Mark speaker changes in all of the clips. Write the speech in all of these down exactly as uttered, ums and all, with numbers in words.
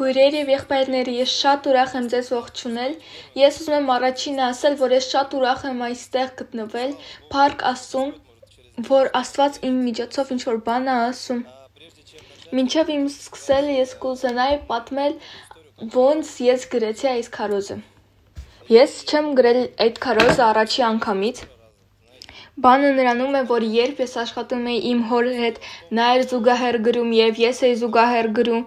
Speaker 1: Քույրեր եւ եղբայրներ, ես շատ ուրախ եմ ձեզ ողջունել։ Ես ուզում եմ առաջինը ասել, որ ես շատ ուրախ եմ այստեղ գտնվել, Փառք Աստծուն, որ Աստված իմ միջոցով ինչ-որ բան է ասում։ Մինչև իմ սկսելը ես կուզենայի պատմել, ոնց ես գրեցի այս քարոզը։ Ես չեմ գրել այդ քարոզը առաջի անգամից։ Բանը նրանում է, որ երբ ես աշխատում էի իմ հոր հետ, նա էր զուգահեռ գրում եւ ես էի զուգահեռ գրում։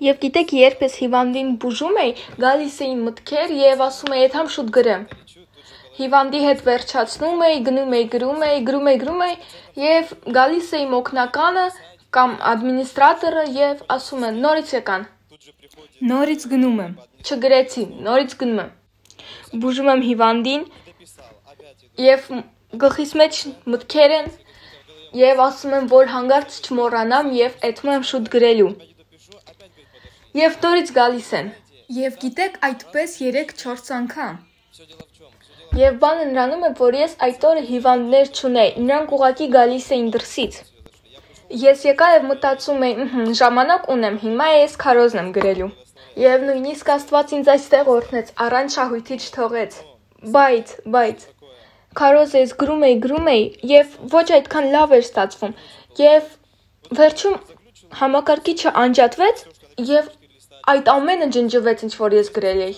Speaker 1: Եվ գիտեք, երբ ես հիվանդին բուժում էի, գալիս էին մտքեր եւ ասում էի, «Եթամ շուտ գրեմ»։ Հիվանդի հետ վերջացնում էի, գնում էի, գրում էի, գրում էի, գրում էի եւ գալիս էի օգնականը կամ ադմինիստրատորը եւ ասում են, «Նորից եկան»։ Նորից գնում եմ։ Չգրեցի, նորից գնում եմ։ Բուժում եմ հիվանդին եւ գլխիս մեջ մտքեր են եւ ասում եմ, որ հանգարց չմոռանամ եւ այդում եմ շուտ գրելու։ Եվ նորից գալիս են։ Եվ գիտեք, այդպես երեք-չորս անգամ։ Եվ բանը նրանում է, որ ես այդ օրը հիվանդներ չունեի, նրանք ուղղակի գալիս էին դրսից։ Ես եկա եւ մտածում էի, ժամանակ ունեմ, հիմա ես քարոզն եմ գրելու։ Եվ նույնիսկ Աստված ինձ այստեղ օրհնեց, առանց շահույթի չթողեց։ Բայց, բայց քարոզը ես գրում էի, գրում էի եւ ոչ այդքան լավ էր ստացվում։ Եվ վերջում համակարգիչը անջատվեց եւ այդ ամենը ջնջվեց, ինչ որ ես գրել էի։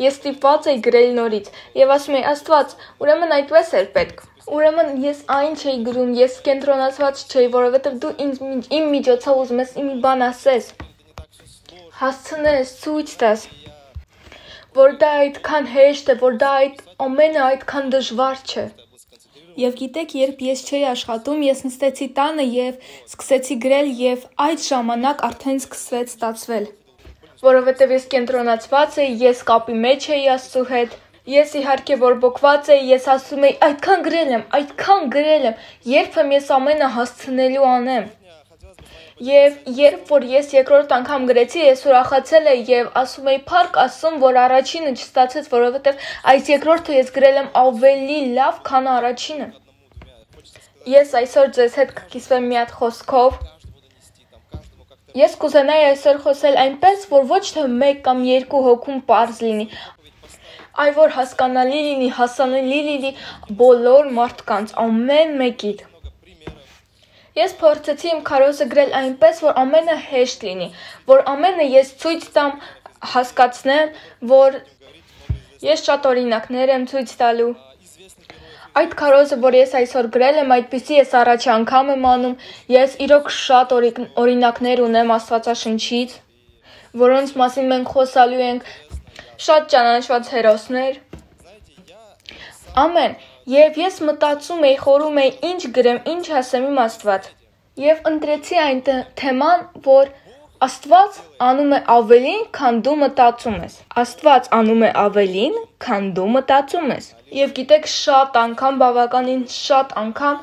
Speaker 1: Ես ստիպված էի գրել նորից եւ ասում էի, Աստված, ուրեմն այդպես էր պետք։ Ուրեմն ես այն չէի գրում, ես կենտրոնացված չէի, որովհետեւ դու ինձ իմ միջոցով ուզում ես մի բան ասես։ Հասցնես, ցույց տաս, որ դա այդքան հեշտ է, որ դա այդ ամենը այդքան դժվար չէ։ Եվ գիտեք, երբ ես չէի աշխատում, ես նստեցի տանը եւ սկսեցի գրել եւ այդ ժամանակ արդեն սկսվեց ստացվել։ Որովհետև ես կենտրոնացված էի, ես կապի մեջ էի Աստծու հետ, ես իհարկե բորբոքված էի, ես ասում էի, այդքան գրել եմ, այդքան գրել եմ, երբ եմ ես ամենը հասցնելու անեմ։ Եվ երբ որ ես երկրորդ անգամ գրեցի, ես ուրախացել էի եւ ասում էի, Փառք Աստծուն, որ առաջինը չստացեց, որովհետև այս երկրորդը ես գրել եմ ավելի լավ, քան առաջինը։ Ես այսօր ձեզ հետ կկիսվեմ մի հատ խոսքով։ Ես կուզենայի այսօր խոսել այնպես, որ ոչ թե մեկ կամ երկու հոգում պարզ լինի, այլ որ հասկանալի լինի, հասանելի լինի բոլոր մարդկանց, ամեն մեկիդ։ Ես փորձեցի իմ քարոզը գրել այնպես, որ ամենը հեշտ լինի, որ ամենը ես ցույց տամ, հասկացնեմ, որ ես շատ օրինակներ եմ ցույց տալու։ Այդ քարոզը, որ ես այսօր գրել եմ, այդպիսի ես առաջ անգամ եմ անում, ես իրոք շատ օրինակներ ունեմ Աստվածաշնչից, որոնց մասին մենք խոսալու ենք, շատ ճանաչված հերոսներ։ Ամեն, եւ ես մտածում էի, խորում էի, ինչ գրեմ, ինչ ասեմ իմ Աստված։ Եվ ընտրեցի այն թեման, որ Աստված անում է ավելին, քան դու մտածում ես։ Աստված անում է ավելին, քան դու մտածում ես։ Եվ գիտեք, շատ անգամ, բավականին շատ անգամ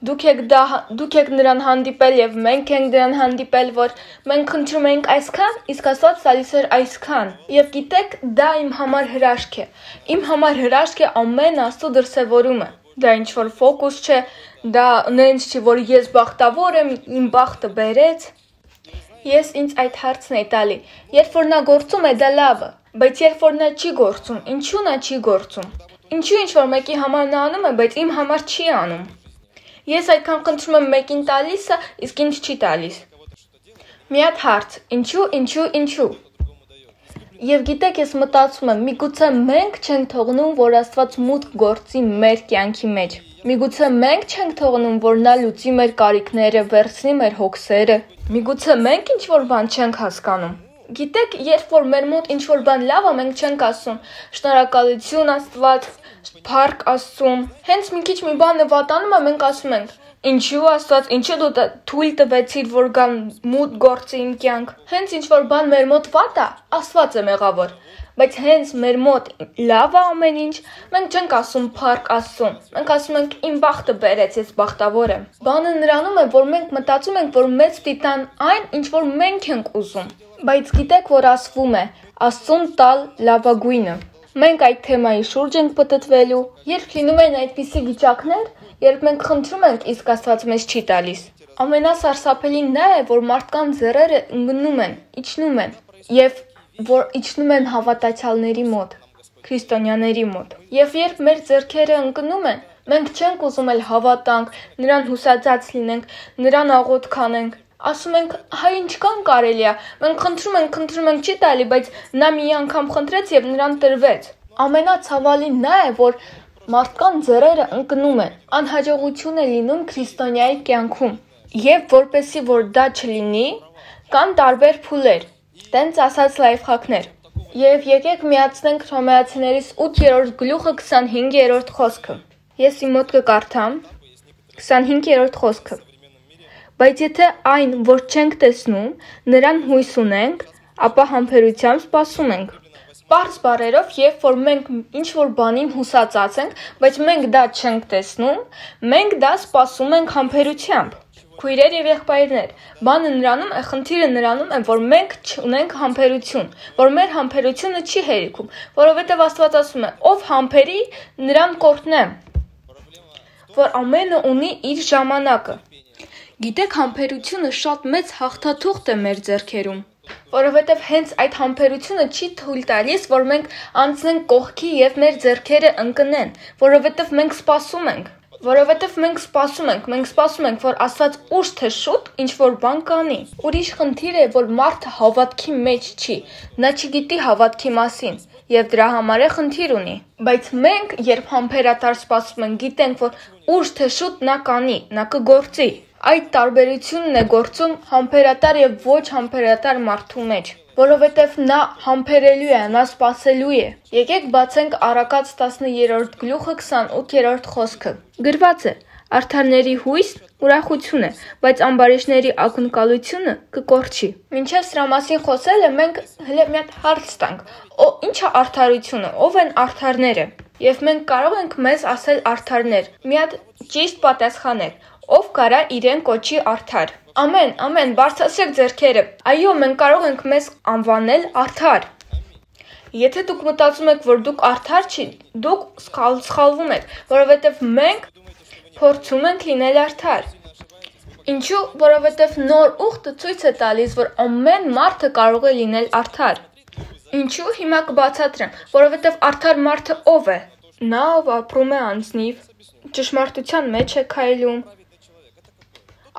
Speaker 1: դուք եք դա դուք եք նրան հանդիպել եւ մենք ենք դրան հանդիպել, որ մենք խնդրում ենք այսքան, իսկ Աստված տալիս էր այսքան։ Եվ գիտեք, դա իմ համար հրաշք է։ Իմ համար հրաշք է ամեն Աստծո դրսևորումը։ Դա ինչ որ ֆոկուս չէ, դա նենց չի, որ ես բախտավոր եմ, իմ բախտը բերեց։ Ես ինձ այդ հարցն էի տալի, երբ որ նա գործում է, դա լավ է, բայց երբ որ նա չի գործում, ինչու նա չի գործում։ Ինչու ինչ որ մեկի համար նա անում է, բայց իմ համար չի անում։ Ես այդքան խնդրում եմ մեկին տալիս է, իսկ ինձ չի տալիս։ Մի հատ հարց, ինչու, ինչու, ինչու։ Եվ գիտեք, ես մտածում եմ, միգուցե մենք չենք թողնում, որ Աստված մուտք գործի մեր կյանքի մեջ։ Միգուցե մենք չենք թողնում, որ նա լուծի մեր կարիքները, վերցնի մեր հոգսերը։ Միգուցե մենք ինչ-որ բան չենք հասկանում։ Գիտեք, երբ որ մեր մոտ ինչ-որ բան լավ է, մենք չենք ասում շնորհակալություն Աստված, Փառք Աստծուն։ Հենց մի քիչ մի բան վատանում է, մենք ասում ենք. Ինչու Աստված, ինչու դու թույլ տվեցիր, որ գան մուտք գործի իմ կյանք։ Հենց ինչ-որ բան մեր մոտ վատ է, Աստված է մեղավոր։ Բայց հենց մեր մոտ լավ է ամեն ինչ, մենք չենք ասում Փառք Աստծուն։ Մենք ասում ենք իմ բախտը բերեց, ես բախտավոր եմ։ Բանը նրանում է, որ մենք մտածում ենք, որ մեզ տիտան այն, ինչ որ մենք ենք ուզում։ Բայց գիտեք, որ ասվում է, Աստծուն տալ լավագույնը։ Մենք այդ թեմայի շուրջ ենք պտտվելու, երբ լինում են այդպիսի վիճակներ, երբ մենք խնդրում ենք, իսկ Աստված մեզ չի տալիս։ Ամենասարսափելին նա է, որ մարդկանց ձեռերը ընկնում են, իջնում են։ եւ որ իջնում են հավատացյալների մոտ, քրիստոնյաների մոտ։ Եվ երբ մեր ձեռքերը ընկնում են, մենք չենք ուզում էլ հավատանք, նրան հուսածած լինենք, նրան աղոթք անենք։ Ասում ենք, հայ ինչքան կարելի է, մենք խնդրում ենք, խնդրում ենք չի տալի, բայց նա մի անգամ խնդրեց եւ նրան տրվեց։ Ամենացավալին նա է, որ մարդկան ձեռերը ընկնում են, անհաջողություն է լինում քրիստոնյայի կյանքում։ Եվ որպեսզի որ դա չլինի, կան տարբեր փուլեր, տենց ասած լայֆհաքներ։ Եվ եկեք միացնենք Հռոմեացիներից ութերորդ գլուխը քսանհինգերորդ խոսքը։ Ես իմ մոտ կկարդամ քսանհինգերորդ խոսքը։ Բայց եթե այն, որ չենք տեսնում, նրան հույս ունենք, ապա համբերությամբ սպասում ենք։ Պարզ բառերով, երբ որ մենք ինչ-որ բանին հուսածած ենք, բայց մենք դա չենք տեսնում, մենք դա սպասում ենք համբերությամբ։ Քույրեր եւ եղբայրներ, բանը նրանում է, խնդիրը նրանում է, որ մենք չունենք համբերություն, որ մեր համբերությունը չի հերիքում, որովհետեւ Աստված ասում է. «Ով համբերի, նրան կօրհնեմ», որ ամենը ունի իր ժամանակը։ Գիտեք, համբերությունը շատ մեծ հաղթաթուղթ է մեր ձեռքերում, որովհետև հենց այդ համբերությունը չի թույլ տալիս, որ մենք անցնենք կողքի եւ մեր ձեռքերը ընկնեն, որովհետև մենք սպասում ենք, որովհետև մենք սպասում ենք, մենք սպասում ենք, որ Աստված ուշ թե շուտ ինչ-որ բան կանի։ Ուրիշ խնդիր է, որ մարդը հավատքի մեջ չի, նա չգիտի հավատքի մասին եւ դրա համար է խնդիր ունի։ Բայց մենք, երբ համբերատար սպասում ենք, գիտենք, որ ուշ թե շուտ նա կանի, նա կգործի։ Այդ տարբերությունն է գործում համբերատար եւ ոչ համբերատար մարդու մեջ, որովհետեւ նա համբերելու է, նա սпасելու է։ Եկեք բացենք Առակաց տասներորդ գլուխը քսանութերորդ խոսքը։ Գրված է. «Արդարների հույսն ուրախություն է, բայց ամբարիշտների ակնկալությունը կկորչի»։ Մինչև սրա մասին խոսելը մենք հենց մի հատ հարց տանք. Ինչ է արդարությունը, ով են արդարները։ Եվ մենք կարող ենք մեզ ասել արդարներ։ Մի հատ ճիշտ պատասխանեք, ով կարա իրեն կոչի արդար։ Ամեն, ամեն, բարձրացրեք ձեռքերը։ Այո, մենք կարող ենք մեզ անվանել արդար։ Եթե դուք մտածում եք, որ դուք արդար չի, դուք սխալվում եք, որովհետև մենք փորձում ենք լինել արդար։ Ինչու՞, որովհետև նոր ուխտը ցույց է տալիս, որ ամեն մարդը կարող է լինել արդար։ Ինչու՞, հիմա կբացատրեմ, որովհետև արդար մարդը ով է։ Նա, ով ապրում է անձնիվ, ճշմարտության մեջ է քայլում,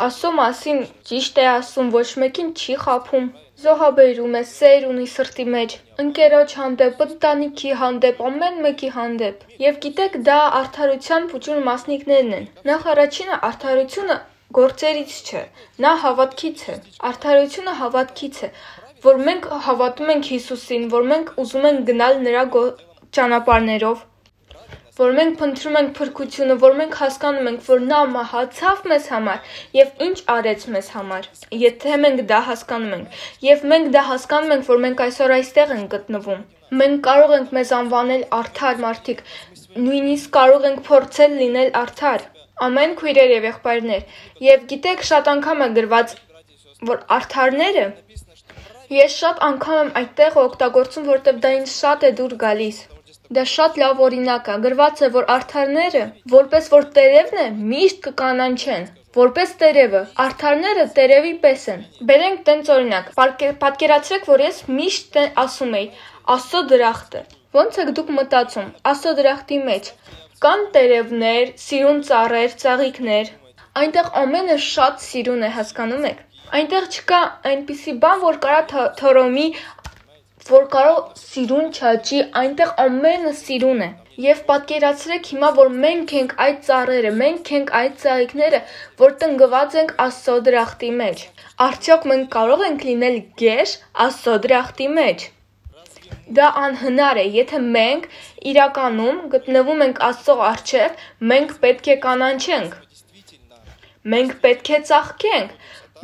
Speaker 1: Աստծո մասին ճիշտ է ասում, ոչ մեկին չի խաբում, զոհաբերում է, սեր ունի սրտի մեջ, ընկերոջ հանդեպ, ընտանիքի հանդեպ, ամեն մեկի հանդեպ։ Եվ գիտեք, դա արդարության փուճուն մասնիկներն են։ Նախ առաջինը արդարությունը գործերից չէ, նա հավատքից է։ Արդարությունը հավատքից է, որ մենք հավատում ենք Հիսուսին, որ մենք ուզում ենք գնալ նրա ճանապարհներով, որ մենք փնտրում ենք փրկությունը, որ մենք հասկանում ենք, որ նա մահացավ մեզ համար եւ ինչ արեց մեզ համար։ Եթե մենք դա հասկանում ենք, եւ մենք դա հասկանում ենք, որ մենք այսօր այստեղ ենք գտնվում, մենք կարող ենք մեզ անվանել արդար մարդիկ, նույնիսկ կարող ենք փորձել լինել արդար։ Ամեն քույրեր եւ եղբայրներ, եւ գիտեք, շատ անգամ է գրված, որ արդարները ես շատ անգամ եմ այդտեղ օգտագործում, որտեղ դա ինձ շատ է դուր գալիս։ Դա շատ լավ օրինակ է, գրված է, որ արդարները, որպես որ տերևն է, միշտ կկանանչեն, որպես տերևը, արդարները տերևի պես են։ Բերենք տենց օրինակ, պատկերացրեք, որ ես միշտ ասում էի, Աստծո դրախտը։ Ոնց եք դուք մտածում, Աստծո դրախտի մեջ կան տերևներ, սիրուն ծառեր, ծաղիկներ, այնտեղ ամենը շատ սիրուն է, հասկանում եք։ Այնտեղ չկա այնպիսի բան, որ կարա թորոմի, որ կարող սիրուն չաճի, այնտեղ ամենը սիրուն է։ Եվ պատկերացրեք հիմա, որ մենք ենք այդ ծառերը, մենք ենք այդ ծաղիկները, որ տնկված ենք Աստծո դրախտի մեջ։ Արդյոք մենք կարող ենք լինել գեշ Աստծո դրախտի մեջ։ Դա անհնար է, եթե մենք իրականում գտնվում ենք Աստծո առջև, մենք պետք է կանանչենք։ Մենք պետք է ծաղկենք,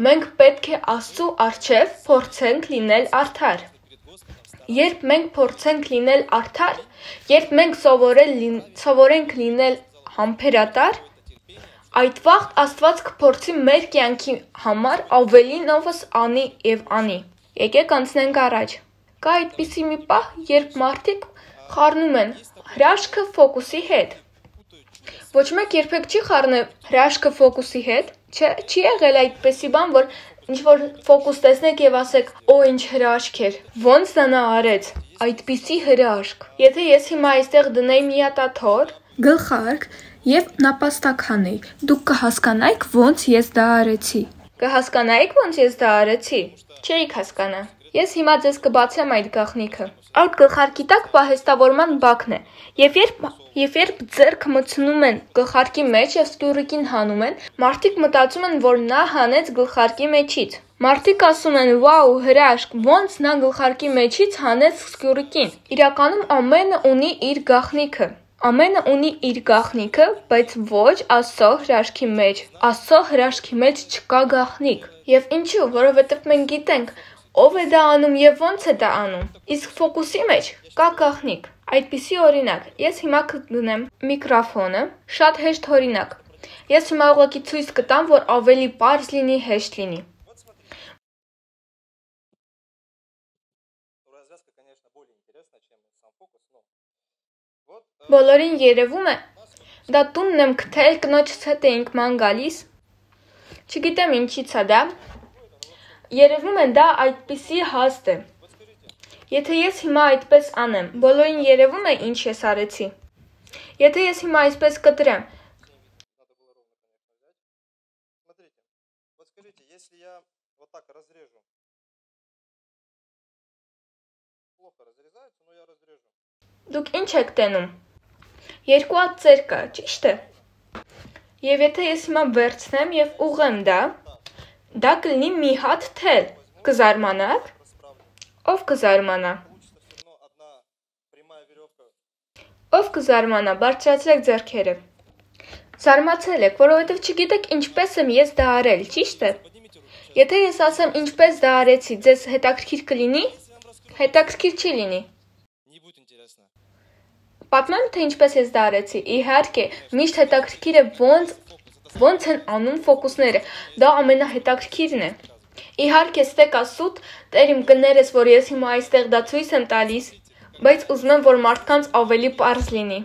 Speaker 1: մենք պետք է Աստծո առջև փորձենք լինել արդար։ Երբ մենք փորձենք լինել արդար, երբ մենք սովորենք լինել համբերատար, այդ վաղ Աստված կփորձի մեր կյանքի համար ավելինովս անի եւ անի։ Եկեք անցնենք առաջ։ Կա այդպիսի մի պահ, երբ մարդիկ խառնում են հրաշքը ֆոկուսի հետ։ Ոչ մեկ երբեք չի խառնել հրաշքը ֆոկուսի հետ, չի եղել այդպիսի բան, որ ինչ որ ֆոկուս տեսնեք եւ ասեք, օ ինչ հրաշք էր, ոնց դա նա արեց, այդպիսի հրաշք։ Եթե ես հիմա այստեղ դնեի միատաթոր, գլխարկ եւ նապաստականի, դուք կհասկանայիք ոնց ես դա արեցի։ Կհասկանայիք ոնց ես դա արեցի։ Չէիք հասկանա։ Ես հիմա ձեզ կբացեմ այդ գաղտնիքը։ Այդ գլխարկի տակ պահեստավորման բակն է։ Եվ երբ եւ երբ ձեռքը մտցնում են գլխարկի մեջ եւ սկյուրիկին հանում են, մարդիկ մտածում են, որ նա հանեց գլխարկի մեջից։ Մարդիկ ասում են՝ «Վաու, հրաշք, ոնց նա գլխարկի մեջից հանեց սկյուրիկին»։ Իրականում ամենը ունի իր գաղտնիքը։ Ամենը ունի իր գաղտնիքը, բայց ոչ Աստծո հրաշքի մեջ։ Աստծո հրաշքի մեջ չկա գաղտնիք։ Եվ ինչու, որովհետև մենք գիտենք ով է դա անում եւ ոնց է դա անում։ Իսկ ֆոկուսի մեջ կա գաղտնիք։ Այդպիսի օրինակ, ես հիմա կդնեմ միկրոֆոնը, շատ հեշտ օրինակ։ Ես հիմա ուղղակի ցույց կտամ, որ ավելի պարզ լինի, հեշտ լինի։ Բոլորին երևում է, դա տունն եմ գտել, կնոջս հետ էինք ման գալիս։ Չգիտեմ ինչից է դա։ Երևում է դա այդպիսի հաստ է։ Եթե ես հիմա այդպես անեմ, բոլորին երևում է ինչ ես արեցի։ Եթե ես հիմա այսպես կտրեմ։ Դուք ինչ եք տենում։ Երկու հատ ծեր կա, ճիշտ է։ Եվ եթե ես հիմա վերցնեմ եւ ուղղեմ դա, դա կլինի մի հատ թել, կզարմանաք, ով կզարմանա, ով կզարմանա, բարձրացրեք ձեռքերը, զարմացել եք, որովհետև չգիտեք ինչպես եմ ես դա արել, ճիշտ է, եթե ես ասեմ ինչպես դա արեցի, ձեզ հետաքրքիր կլինի, հետաքրքիր չի լինի, պատմեմ թե ինչպես ես դա արեցի, իհարկե, միշտ հետաքրքիր է ոնց Ոնց են անում ֆոկուսները, դա ամենահետաքրքիրն է։ Իհարկե ստեկա սուտ, տեր իմ կներես, որ ես հիմա այստեղ դա ցույց եմ տալիս, բայց ուզում եմ, որ մարդկանց ավելի պարզ լինի։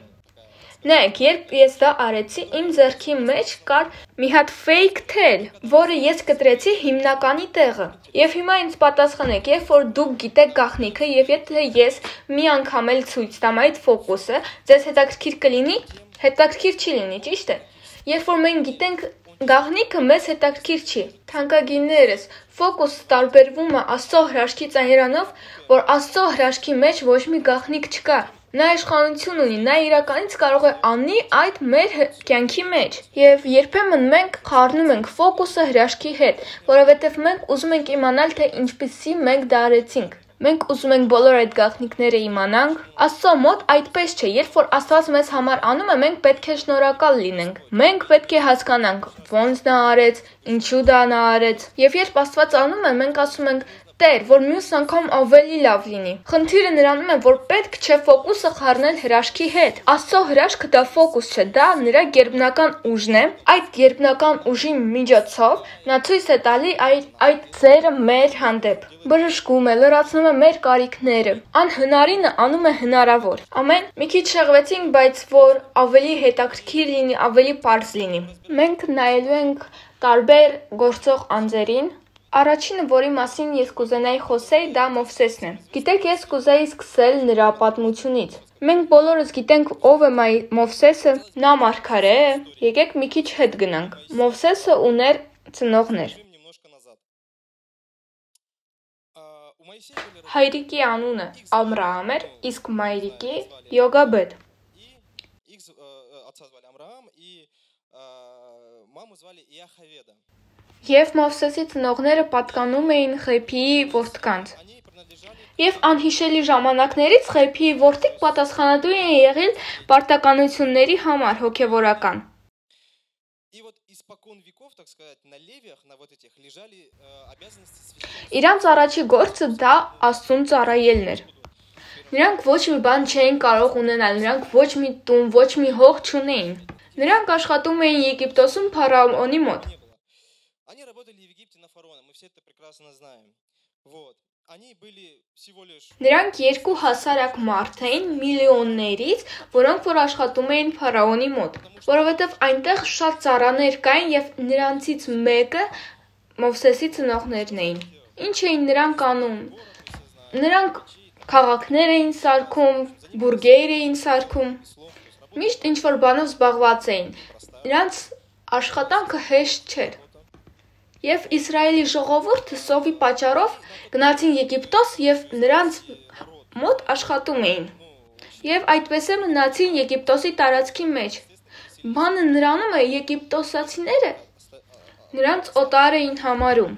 Speaker 1: Նայեք, երբ ես դա արեցի, իմ ձեռքի մեջ կար մի հատ fake թել, որը ես կտրեցի հիմնականի տեղը։ Եվ հիմա ինձ պատասխանեք, երբ որ դուք գիտեք գաղտնիքը, եւ եթե ես մի անգամ էլ ցույց տամ այդ ֆոկուսը, ձեզ հետաքրքիր կլինի, հետաքրքիր չի լինի, ճիշտ է։ Երբ որ մենք գիտենք գաղտնիքը, մեզ հետաքրքիր չի։ Թանկագիններս, ֆոկուսը տարբերվում է Աստծո հրաշքից այնրանով, որ Աստծո հրաշքի մեջ ոչ մի գաղտնիք չկա։ Նա իշխանություն ունի, նա իրականից կարող է անի այդ մեր կյանքի մեջ։ Եվ երբեմն մենք խառնում ենք ֆոկուսը հրաշքի հետ, որովհետև մենք ուզում ենք իմանալ, թե ինչպիսի մենք դա արեցինք։ Մենք ուզում ենք բոլոր այդ գաղտնիքները իմանանք։ Աստծո մոտ այդպես չէ, երբ որ Աստված մեզ համար անում է, մենք պետք է շնորհակալ լինենք։ Մենք պետք է հասկանանք, ոնց նա արեց, ինչու դա նա արեց։ Եվ երբ Աստված անում է, մենք ասում ենք. Տեր, որ մյուս անգամ ավելի լավ լինի։ Խնդիրը նրանում է, որ պետք չէ ֆոկուսը խառնել հրաշքի հետ։ Աստծո հրաշքը դա ֆոկուս չէ, դա նրա գերբնական ուժն է։ Այդ գերբնական ուժի միջոցով նա ցույց է տալի այդ այդ ձերը մեր հանդեպ։ Բժշկում է, լրացնում է մեր կարիքները։ Անհնարինը անում է հնարավոր։ Ամեն։ Մի քիչ շեղվեցինք, բայց որ ավելի հետաքրքիր լինի, ավելի պարզ լինի։ Մենք նայելու ենք տարբեր գործող անձերին։ Առաջինը, որի մասին ես կուզենայի խոսել, դա Մովսեսն է։ Գիտեք, ես կուզեի սկսել նրա պատմությունից։ Մենք բոլորս գիտենք ով է Մովսեսը, նա մարգարե է։ Եկեք մի քիչ հետ գնանք։ Մովսեսը ուներ ծնողներ։ Հայրիկի անունը Ամրահամ էր, իսկ մայրիկի Յոգաբեդ։ Եվ Մովսեսի ծնողները պատկանում էին Խեփիի որդկանց։ Եվ անհիշելի ժամանակներից Խեփիի որդիկ պատասխանատու են եղել պարտականությունների համար հոգևորական։ Իրանց առաջի գործը դա Աստծուն ծառայելն էր։ Նրանք ոչ մի բան չէին կարող ունենալ, նրանք ոչ մի տուն, ոչ մի հող չունեին։ Նրանք աշխատում էին Եգիպտոսում փարավոնի մոտ։ Նրանք երկու հասարակ մարդ էին միլիոններից, որոնք որ աշխատում էին փարավոնի մոտ, որովհետև այնտեղ շատ ծառաներ կային եւ նրանցից մեկը Մովսեսի ծնողներն էին։ Ինչ էին նրանք անում։ Նրանք քաղաքներ էին սարքում, բուրգեր էին սարքում։ Միշտ ինչ-որ բանով զբաղված էին։ Նրանց աշխատանքը հեշտ չէր։ Եվ Իսրայելի ժողովուրդը սովի պատճառով գնացին Եգիպտոս և նրանց մոտ աշխատում էին։ Եվ այդպես էլ մնացին Եգիպտոսի տարածքի մեջ։ Բանը նրանում է եգիպտոսացիները նրանց օտար էին համարում։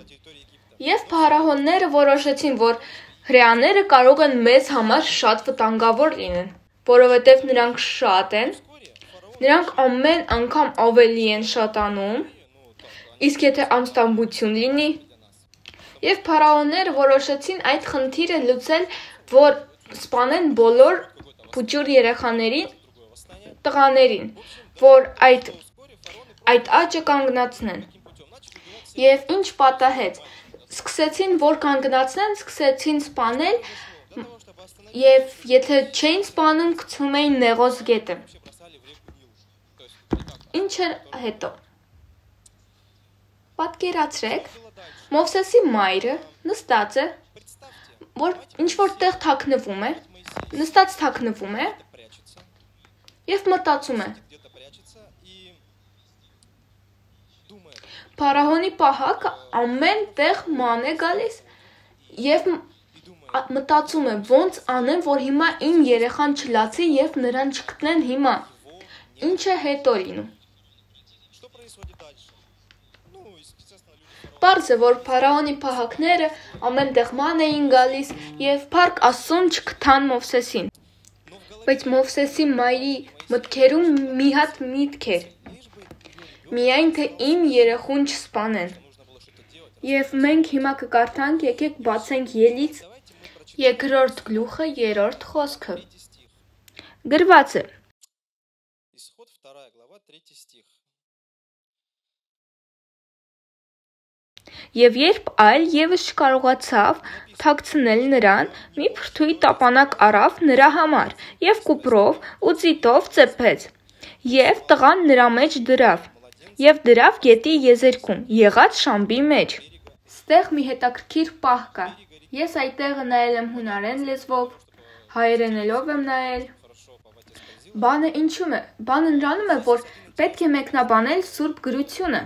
Speaker 1: Եվ փարավոնները որոշեցին, որ հրեաները կարող են մեզ համար շատ վտանգավոր լինեն, որովհետև նրանք շատ են, նրանք ամեն անգամ ավելի են շատանում, իսկ եթե ամստամբություն լինի, եւ փարավոնները որոշեցին այդ խնդիրը լուծել, որ սպանեն բոլոր փուչուր երեխաներին, տղաներին, որ այդ այդ աճը կանգնացնեն։ Եվ ինչ պատահեց, սկսեցին, որ կանգնացնեն, սկսեցին սպանել, եւ եթե չէին սպանում, գցում էին Նեղոս գետը։ Ինչ էր հետո։ Պատկերացրեք, Մովսեսի մայրը նստած է, որ ինչ-որ տեղ թաքնվում է, նստած թաքնվում է եւ մտածում է։ Փարավոնի պահակը ամեն տեղ ման է գալիս եւ մտածում է, ոնց անեմ, որ հիմա իմ երեխան չլացի եւ նրան չգտնեն հիմա։ Ինչ է հետո լինում։ Պարզ է, որ փարավոնի պահակները ամեն տեղ ման էին գալիս եւ փառք Աստծուն չգտան Մովսեսին։ Բայց Մովսեսի մայրի մտքերում մի հատ միտք էր։ Միայն թե իմ երեխուն չսպանեն։ Եվ մենք հիմա կկարդանք, եկեք բացենք Ելից երկրորդ գլուխը երրորդ խոսքը։ Գրված է. Եվ երբ այլ ևս չկարողացավ թաքցնել նրան, մի փրթույթ տապանակ առավ նրա համար, եւ կուպրով ու ծիտով ծեփեց, եւ տղան նրա մեջ դրավ, եւ դրավ գետի եզերքում, եղած շամբի մեջ։ Ստեղ մի հետաքրքիր պահ կա։ Ես այդտեղը նայել եմ հունարեն լեզվով, հայերենելով եմ նայել։ Բանը ինչու՞մ է։ Բանը նրանում է, որ պետք է մեկնաբանել Սուրբ գրությունը։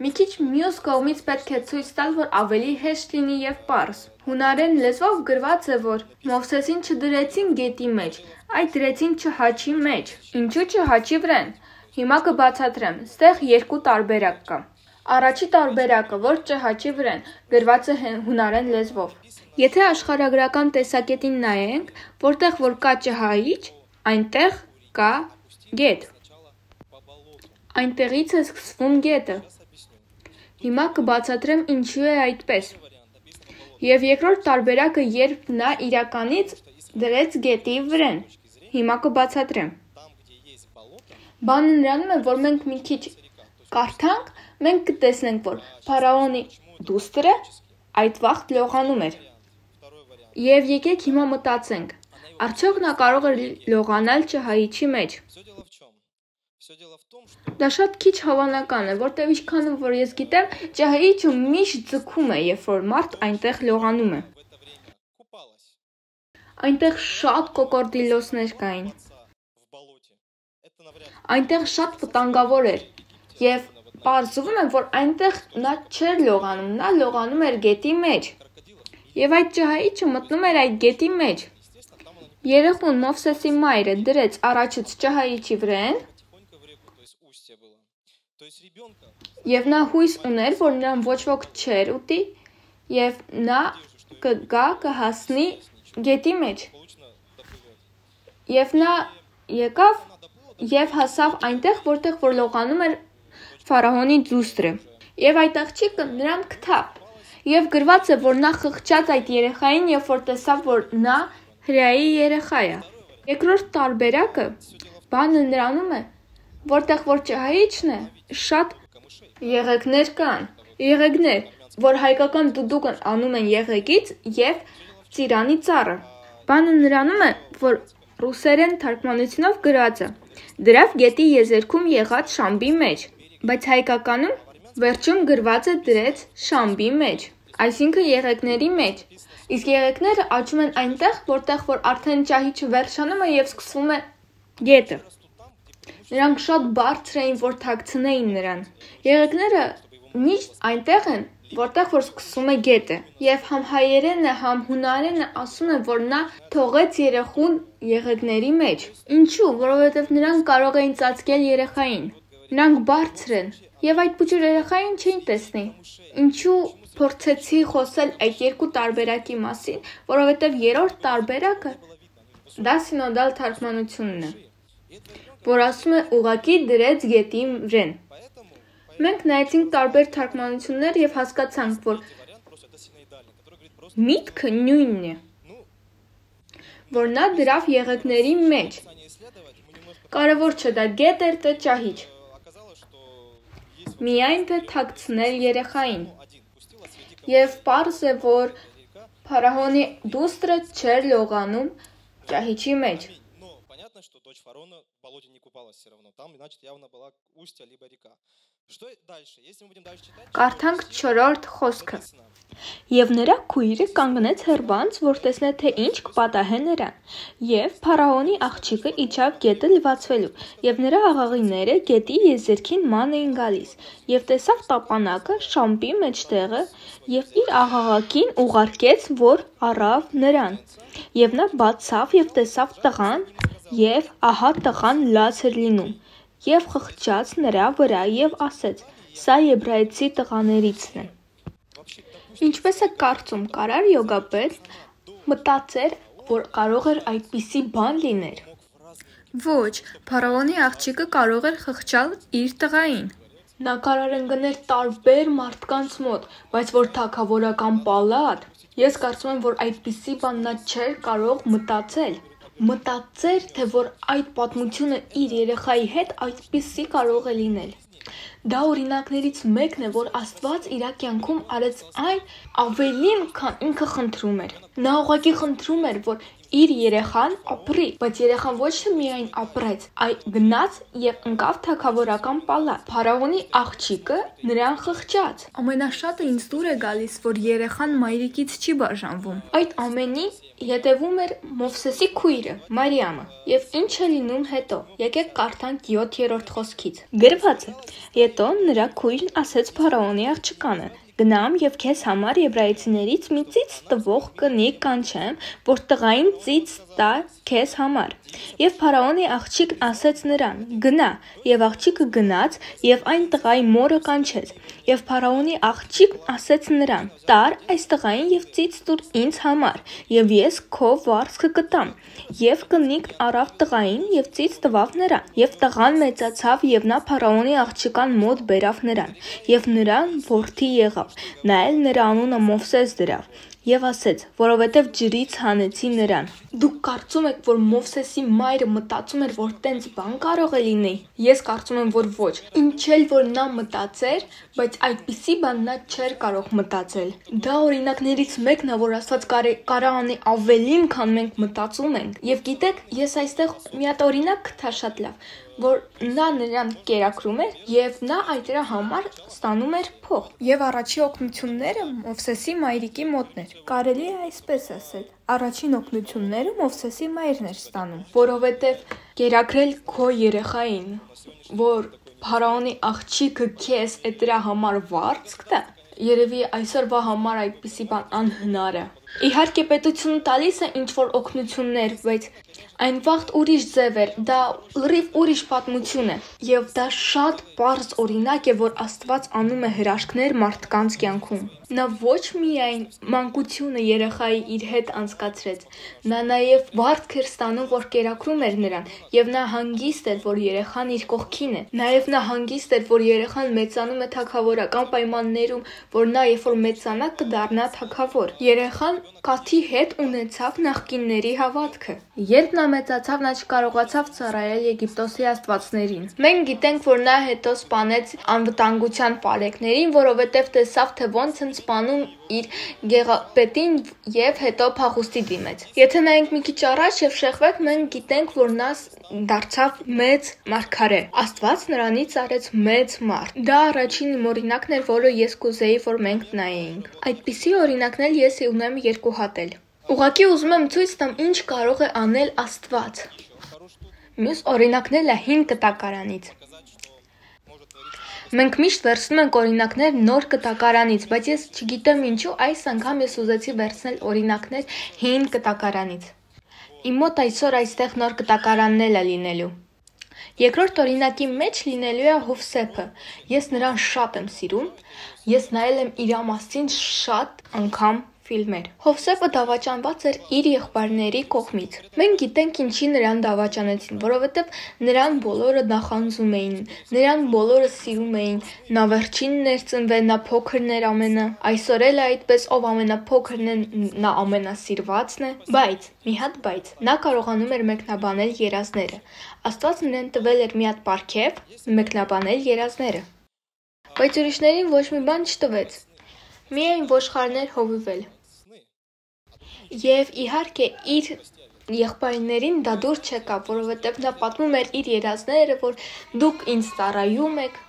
Speaker 1: Մի քիչ մյուս կողմից պետք է ցույց տալ, որ ավելի հեշտ լինի եւ պարզ։ Հունարեն լեզվով գրված է, որ Մովսեսին չդրեցին գետի մեջ, այլ դրեցին չհաչի մեջ։ Ինչու չհաչի վրան։ Հիմա կբացատրեմ։ Ստեղ երկու տարբերակ կա։ Առաջի տարբերակը, որ չհաչի վրան, գրված է հունարեն լեզվով։ Եթե աշխարհագրական տեսակետին նայենք, որտեղ որ կա չհայիչ, այնտեղ կա գետ։ Այնտեղից է սկսվում գետը։ Հիմա կբացատրեմ ինչու է այդպես։ Եվ երկրորդ տարբերակը, երբ նա իրականից դրեց գետի վրան։ Հիմա կբացատրեմ։ Բանը նրանում է, որ մենք մի քիչ կարդանք, մենք կտեսնենք, որ փարավոնի դուստրը այդ վաղտ լողանում էր։ Եվ եկեք հիմա մտածենք, արդյոք նա կարող էր լողանալ չհայիչի մեջ։ Դա շատ քիչ հավանական է, որտեղ ինչքան որ ես գիտեմ, ջահիճը միշտ ձգում է, երբ որ մարդ այնտեղ լողանում է։ Այնտեղ շատ կոկորդիլոսներ կային։ Այնտեղ շատ վտանգավոր էր, եւ պարզվում է, որ այնտեղ նա չէր լողանում, նա լողանում էր գետի մեջ։ Եվ այդ ջահիճը մտնում էր այդ գետի մեջ։ Երեխուն Մովսեսի մայրը դրեց առաջից ջահիճի վրան։ Եվ նա հույս ուներ, որ նրան ոչ ոք չեր ուտի, եւ նա կգա կհասնի գետի մեջ։ Եվ նա եկավ եւ հասավ այնտեղ, որտեղ որ լողանում էր ֆարավոնի դուստրը։ Եվ այդ աղջիկը նրան գտավ։ Եվ գրված է, որ նա խղճաց այդ երեխային, երբ որ տեսավ, որ նա հրեայի երեխա է։ Երկրորդ տարբերակը բանը նրանում է, որտեղ որ ջահիճն է, շատ եղեգներ կան, եղեգներ, որ հայկական դուդուկն անում են եղեգից եւ ծիրանի ծառը։ Բանը նրանում է, որ ռուսերեն թարգմանությունով գրած է. դրավ գետի եզերքում եղած շամբի մեջ, բայց հայկականում Վերջում գրվածը դրեց շամբի մեջ, այսինքն եղեգների մեջ, իսկ եղեգները աճում են այնտեղ, որտեղ որ արդեն ճահիճը վերջանում է և սկսվում է գետը։ Նրանք շատ բարձր էին, որ թաքցնեին նրան։ Եղեգները միշտ այնտեղ են, որտեղ որ սկսվում է գետը, և համ հայերենը, համ հունարենը ասում են, որ նա թողեց երեխուն եղեգների մեջ։ Ինչու՞, որովհետև նրանք կարող էին ծածկել երեխային։ Նրանք բարձր են, և այդ փոքր երեխային չէին տեսնի։ Ինչու փորձեցի խոսել այդ երկու տարբերակի մասին, որովհետև երրորդ տարբերակը դա սինոդալ թարգմանությունն է, որ ասում է ուղղակի դրեց գետի վրեն։ Մենք նայեցինք տարբեր թարգմանություններ և հասկացանք, որ միտքը նույնն է, որ նա դրավ եղեգների մեջ։ Կարևոր չէ դա գետ էր, թե ճահիճ։ Միայն թե թաքցնել երեխային։ Եվ պարզ է, որ փարավոնի դուստրը չէր լողանում ճահիճի մեջ։
Speaker 2: Что дочь фараона в болоте не купалась все равно. Там, значит, явно была устье либо река. Что дальше? Если мы будем дальше читать...
Speaker 1: Կարդանք չորրորդ խոսքը։ Եվ նրա քույրը կանգնեց հեռվանց, որ տեսնե թե ինչ կպատահե նրան։ Եվ փարավոնի աղջիկը իջավ գետը լվացվելու, եւ նրա աղաղիները գետի եզերքին ման էին գալիս, եւ տեսավ տապանակը շամբի մեջտեղը, եւ իր աղաղակին ուղարկեց, որ առավ նրան։ Եվ նա բացավ եւ տեսավ տղան, եւ ահա տղան լաց էր լինում, եւ խղճաց նրա վրա եւ ասեց. «Սա եբրայեցի տղաներիցն է»։ Ինչպես է կարծում, կարար յոգապետ մտածեր, որ կարող էր այդպիսի բան լիներ։ Ոչ, փարավոնի աղջիկը կարող էր խղճալ իր տղային։ Նա կարող ընկներ տարբեր մարդկանց մոտ, բայց որ թագավորական պալատ, ես կարծում եմ, որ այդպիսի բան նա չէր կարող մտածել։ Մտածեր, թե որ այդ պատմությունը իր երեխայի հետ այդպիսի կարող է լինել։ Դա օրինակներից մեկն է, որ Աստված իր կյանքում արեց այն ավելին, քան ինքը խնդրում էր։ Նա ուղղակի խնդրում էր, որ իր երեխան ապրի, բայց երեխան ոչ թե միայն ապրեց, այլ գնաց եւ ընկավ թագավորական պալատ։ Փարավոնի աղջիկը նրան խղճաց։ Ամենաշատը ինձ դուր է գալիս, որ երեխան մայրիկից չի բաժանվում։ Այդ ամենի հետևում էր Մովսեսի քույրը, Մարիամը, եւ ինչ է լինում հետո։ Եկեք կարդանք յոթերորդ խոսքից։ Գրված է. Հետո նրա քույրն ասեց փարավոնի աղջկանը. Գնամ եւ քեզ համար եբրայեցիներից մի ծիծ տվող կնիկ կանչեմ, որ տղային ծիծ տա քեզ համար։ Եվ փարավոնի աղջիկն ասեց նրան. Գնա, եւ աղջիկը գնաց եւ այն տղայի մորը կանչեց։ Եվ փարավոնի աղջիկն ասեց նրան. Տար այս տղային եւ ծիծ տուր ինձ համար, եւ ես քո վարձքը կտամ։ Եվ կնիկն առավ տղային եւ ծիծ տվավ նրան։ Եվ տղան մեծացավ եւ նա փարավոնի աղջկան մոտ բերավ նրան, եւ նրան որդի եղավ։ Նա էլ նրա անունը Մովսես դրավ եւ ասեց, որովհետեւ ջրից հանեցի նրան։ Դուք կարծում եք, որ Մովսեսի մայրը մտածում էր, որ տենց բան կարող է լինի։ Ես կարծում եմ, որ ոչ։ Ինչ էլ որ նա մտածեր, բայց այդպիսի բան նա չէր կարող մտածել։ Դա օրինակներից մեկն է, որ Աստված կարող անի ավելին, քան մենք մտածում ենք։ Եվ գիտեք, ես այստեղ մի հատ օրինակ կտա շատ լավ, որ նա նրան կերակրում էր եւ նա այդ դրա համար ստանում էր փող։ Եվ առաջի օգնությունները Մովսեսի մայրիկի մոտն էր։ Կարելի է այսպես ասել. առաջին օգնությունները Մովսեսի մայրն էր ստանում, որովհետեւ կերակրել քո երեխային, որ փարավոնի աղջիկը քեզ է դրա համար վարձք տա, երևի այսօրվա համար այդպիսի բան անհնար է։ Իհարկե պետությունը տալիս է ինչ որ օգնություններ, բայց այն վաղտ ուրիշ ձև էր, դա լրիվ ուրիշ պատմություն է։ Եվ դա շատ պարզ օրինակ է, որ Աստված անում է հրաշքներ մարդկանց կյանքում։ Նա ոչ միայն մանկությունը երեխայի իր հետ անցկացրեց, նա նաև վարձք էր ստանում, որ կերակրում էր նրան, եւ նա հանգիստ էր, որ երեխան իր կողքին է։ Նաև նա հանգիստ էր, որ երեխան մեծանում է թագավորական պայմաններում, որ նա երբ որ մեծանա կդառնա թագավոր։ Երեխան Կաթի հետ ունեցավ նախկինների հավատքը։ Երբ նա մեծացավ, նա չկարողացավ ծառայել Եգիպտոսի աստվածներին։ Մենք գիտենք, որ նա հետո սպանեց անվտանգության պարեկներին, որովհետև տեսավ, թե ոնց են սպանում իր գեղապետին եւ հետո փախուստի դիմեց։ Եթե նայենք մի քիչ առաջ եւ շեղվենք, մենք գիտենք, որ նա դարձավ մեծ մարգարե։ Աստված նրանից արեց մեծ մարդ։ Դա առաջին օրինակն էր, որը ես կուզեի, որ մենք նայենք։ Այդպիսի օրինակներ ես ունեմ երկու հատ էլ։ Ուղղակի ուզում եմ ցույց տամ, ինչ կարող է անել Աստված։ Մյուս օրինակն էլ է հին կտակարանից։ Մենք միշտ վերցնում ենք օրինակներ նոր կտակարանից, բայց ես չգիտեմ ինչու այս անգամ ես ուզեցի վերցնել օրինակներ հին կտակարանից։ Իմ մոտ այսօր այստեղ նոր կտակարանն էլ է լինելու։ Երկրորդ օրինակի մեջ լինելու է Հովսեփը։ Ես նրան շատ եմ սիրում։ Ես նայել եմ իր մասին շատ անգամ ֆիլմեր։ Հովսեփը դավաճանված էր իր եղբայրների կողմից։ Մենք գիտենք ինչի նրան դավաճանեցին, որովհետև նրան բոլորը նախանձում էին, նրան բոլորը սիրում էին, նա վերջինն էր ծնվել, նա փոքրն էր ամենը, այսօր էլ այդպես, ով ամենափոքրն է, նա ամենասիրվածն է, բայց, մի հատ բայց, նա կարողանում էր մեկնաբանել երազները։ Աստված նրան տվել էր մի հատ պարգև մեկնաբանել երազները։ Բայց ուրիշներին ոչ մի բան չտվեց։ Միայն ոչխարներ հովիվել։ Եվ իհարկե իր եղբայրներին դա դուր չեկավ, որովհետև նա պատմում էր իր երազները, որ դուք ինձ ծառայում եք։